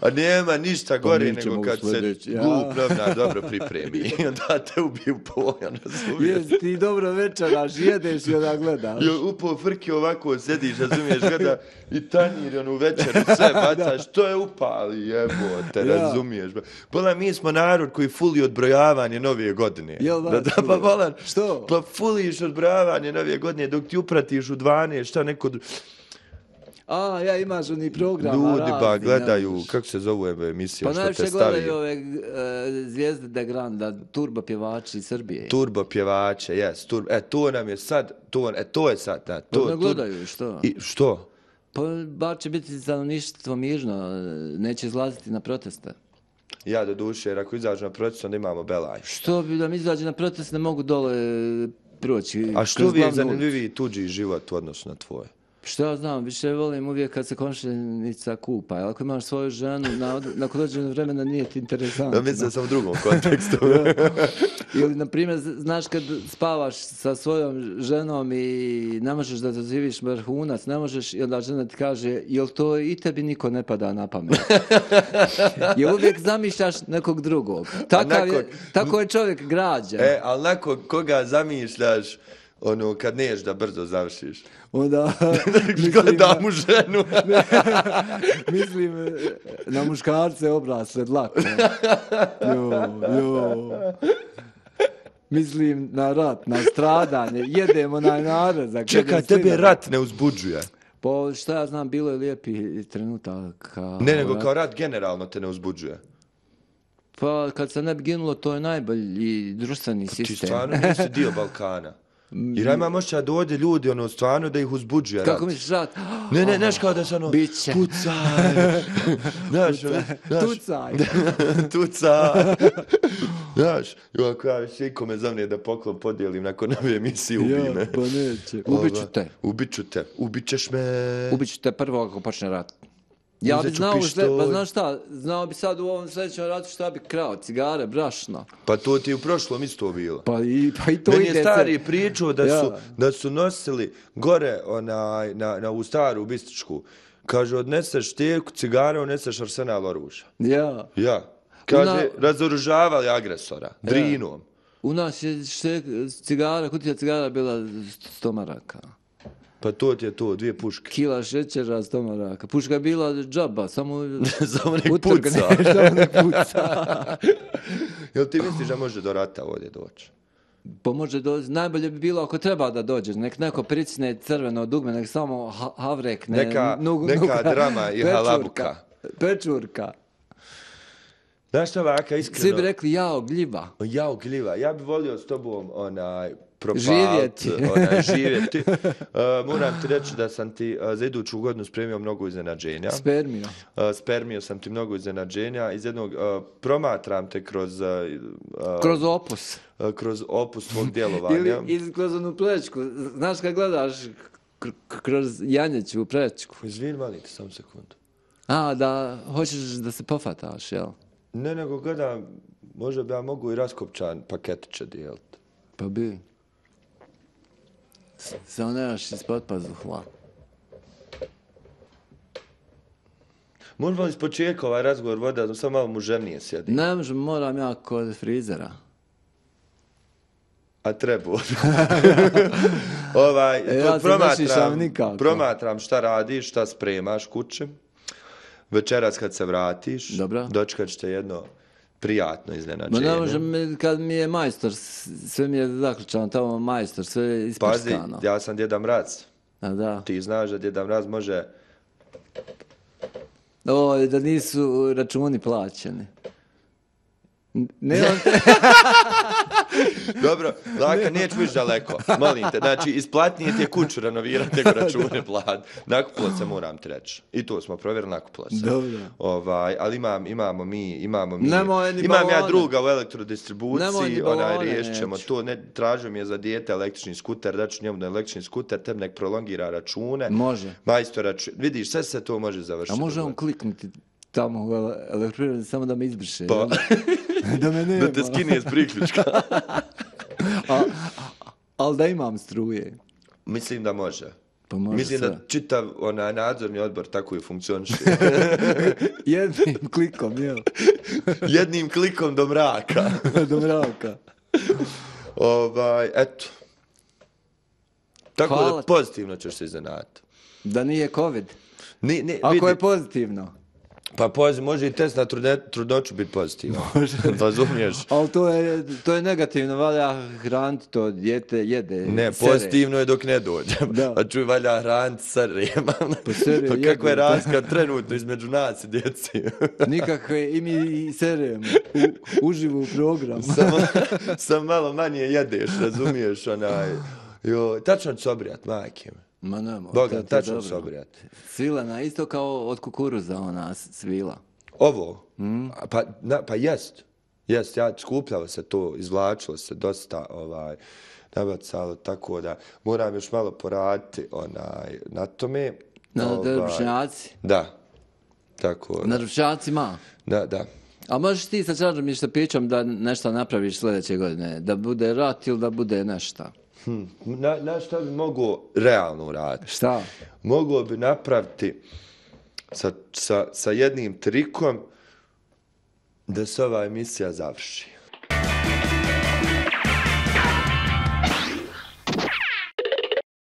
A nema ništa gore nego kad se glup novnar dobro pripremi. I onda te ubiju pojam, razumiješ? Jes, ti dobro večeraš, jedeš i onda gledaš. Upo frki ovako sediš, razumiješ, gleda i tanjir, onu večeru, sve bacaš, to je upali, jebote, razumiješ. Bolan, mi smo narod koji fuli odbrojavanje nove godine. Jel da? Pa bolan, što? Pa fuliš odbrojavanje nove godine dok ti upratiš u 12, šta neko... Ja imaš oni programa ljudi ba gledaju, kako se zove emisija, pa što te stavi. Pa najviše gledaju ove zvijezde de Granda, turbo pjevači Srbije. Turbo pjevače, jes. To nam je sad, to je sad. Da, to ne gledaju, što? Što? Pa bar će biti stanovništvo mirno, neće izlaziti na proteste. Ja do duše, jer ako izađu na protest, onda imamo belaj. Što bi da mi izađe na protest, ne mogu dole proći. A što vi je zanimljiviji tuđi život u odnosu na tvoje? Što ja znam, više volim uvijek kad se komšinica kupa. Ako imaš svoju ženu, nakon dođenog vremena nije ti interesantno. Mislim sam u drugom kontekstu. Ili, na primjer, znaš kad spavaš sa svojom ženom i ne možeš da doživiš vrhunac, ne možeš, i onda žena ti kaže, jel to i tebi niko ne pada na pamet? Jel uvijek zamišljaš nekog drugog? Tako je čovjek građan. Ali nakon koga zamišljaš, kad neš da brzo završiš. Onda... Gledam u ženu. Mislim na muškarce obrasle dlako. Mislim na rat, na stradanje. Jedemo na narezak. Čekaj, tebe rat ne uzbuđuje. Pa šta ja znam, bilo je lijepi trenutak. Ne, nego kao rat generalno te ne uzbuđuje. Pa kad se ne bi ginulo, to je najbolji društveni sistem. Ti stvarno nisi dio Balkana. Jer ja imam ošća da ovdje ljudi, stvarno da ih uzbuđuje rat. Kako misliš rat? Ne, znaš kao da se Biće. Pucaj. Tucaj. Znaš, ako ja više ikome zavne da poklon podijelim nakon ove emisije, ubi me. Pa neće. Ubit ćeš me. Ubit ću te prvo ako počne rat. Ja bi znao, pa znaš šta, znao bi sad u ovom sljedećem ratu šta bi krao, cigare, brašno. Pa to ti u prošlom isto bilo. Pa i to meni ide. Je stari pričao da su nosili gore na u staru bističku. Kaže, odneseš teku cigare, odneseš arsenal oružja. Ja. Kaže, razoružavali agresora, drinom. U nas je kutija cigara bila 100 maraka. Pa to ti je to, 2 puške. Kila šećera, 100 maraka. Puška je bila džaba, samo nek puca. Jel ti misliš da može do rata ovdje doći? Pa može doći. Najbolje bi bilo ako treba da dođe. Nek neko pricne crveno dugme, nek samo havrekne. Neka drama i halabuka. Pečurka. Znaš šta vaka, iskreno? Svi bi rekli, jao, gljiva. Jao, gljiva. Ja bi volio s tobom, živjeti. Moram ti reći da sam ti za iduću godinu spremio mnogo iznenađenja. Spermio sam ti mnogo iznenađenja. Iz jednog, promatram te kroz... kroz opus. Kroz opus tvog djelovanja. Ili kroz onu prečku. Znaš kad gledaš kroz janjeću prečku. Izvini, molim te, samo sekundu. Da hoćeš da se pofataš, jel? Ne, nego gledam, možda bi ja mogu i raskopčan paketiće dijeliti. Pa bi. Samo nemaš ispod pazuhla. Možemo li ispočetka ovaj razgovor voda, da sam malo muževnije sjedi? Ne možem, moram ja kod frizera. A treba. Promatram šta radiš, šta spremaš kući. Večeras kad se vratiš, dočekat ćete jedno prijatno iznenađenje. Ne možem, kad mi je majstor, sve mi je zaključano, tamo majstor, sve je isprskano. Pazi, ja sam Djeda Mraz. Da. Ti znaš da Djeda Mraz može... Da nisu računi plaćeni. Dobro, Laka, neću viš daleko, molim te. Znači, isplatnije ti je kuću renovirati nego račune plat. Nakupilo se, moram ti reći. I to smo provjerili, nakupilo se. Dobro. Ali imamo mi. Imam ja druga u elektrodistribuciji, riješit ćemo to. Tražio mi je za dijete električni skuter, daću njemu na električni skuter, tebi nek prolongira račune. Može. Majstora, vidiš, sve se to može završiti. A može on kliknuti tamo u elektroprivredi samo da me izbriše. Pa, da te skine iz priključka. Ali da imam struje. Mislim da može. Pa može. Mislim da čitav nadzorni odbor tako i funkcioniše. Jednim klikom, jel? Jednim klikom do mraka. Do mraka. Eto. Tako da pozitivno ćeš se iznenaditi. Da nije COVID? Ako je pozitivno. Pa može i test na trudnoću biti pozitivan. Razumiješ? Ali to je negativno, valja hraniti to, dijete jede. Ne, pozitivno je dok ne dođe. A čuj, valja hraniti serema. Pa kako je razlika trenutno između nas i djeci? Nikakve, i mi seremo. Uživo u programu. Samo malo manje jedeš, razumiješ? Tačno ću se obrijat, majke me. Ma nema. Boga, tačno se obrijati. Svilena, isto kao od kukuruza ona svila. Ovo? Pa jest. Jest, skupljalo se to, izvlačilo se dosta nabacalo, tako da moram još malo poraditi na tome. Na drvšnjaci? Da. Tako. Na drvšnjacima? Da. A možeš ti sa Čađom i Štapićom da nešto napraviš sljedeće godine? Da bude rat ili da bude nešto? Na što bi mogu realno uraditi? Šta? Mogu bi napraviti sa jednim trikom da se ova emisija završi.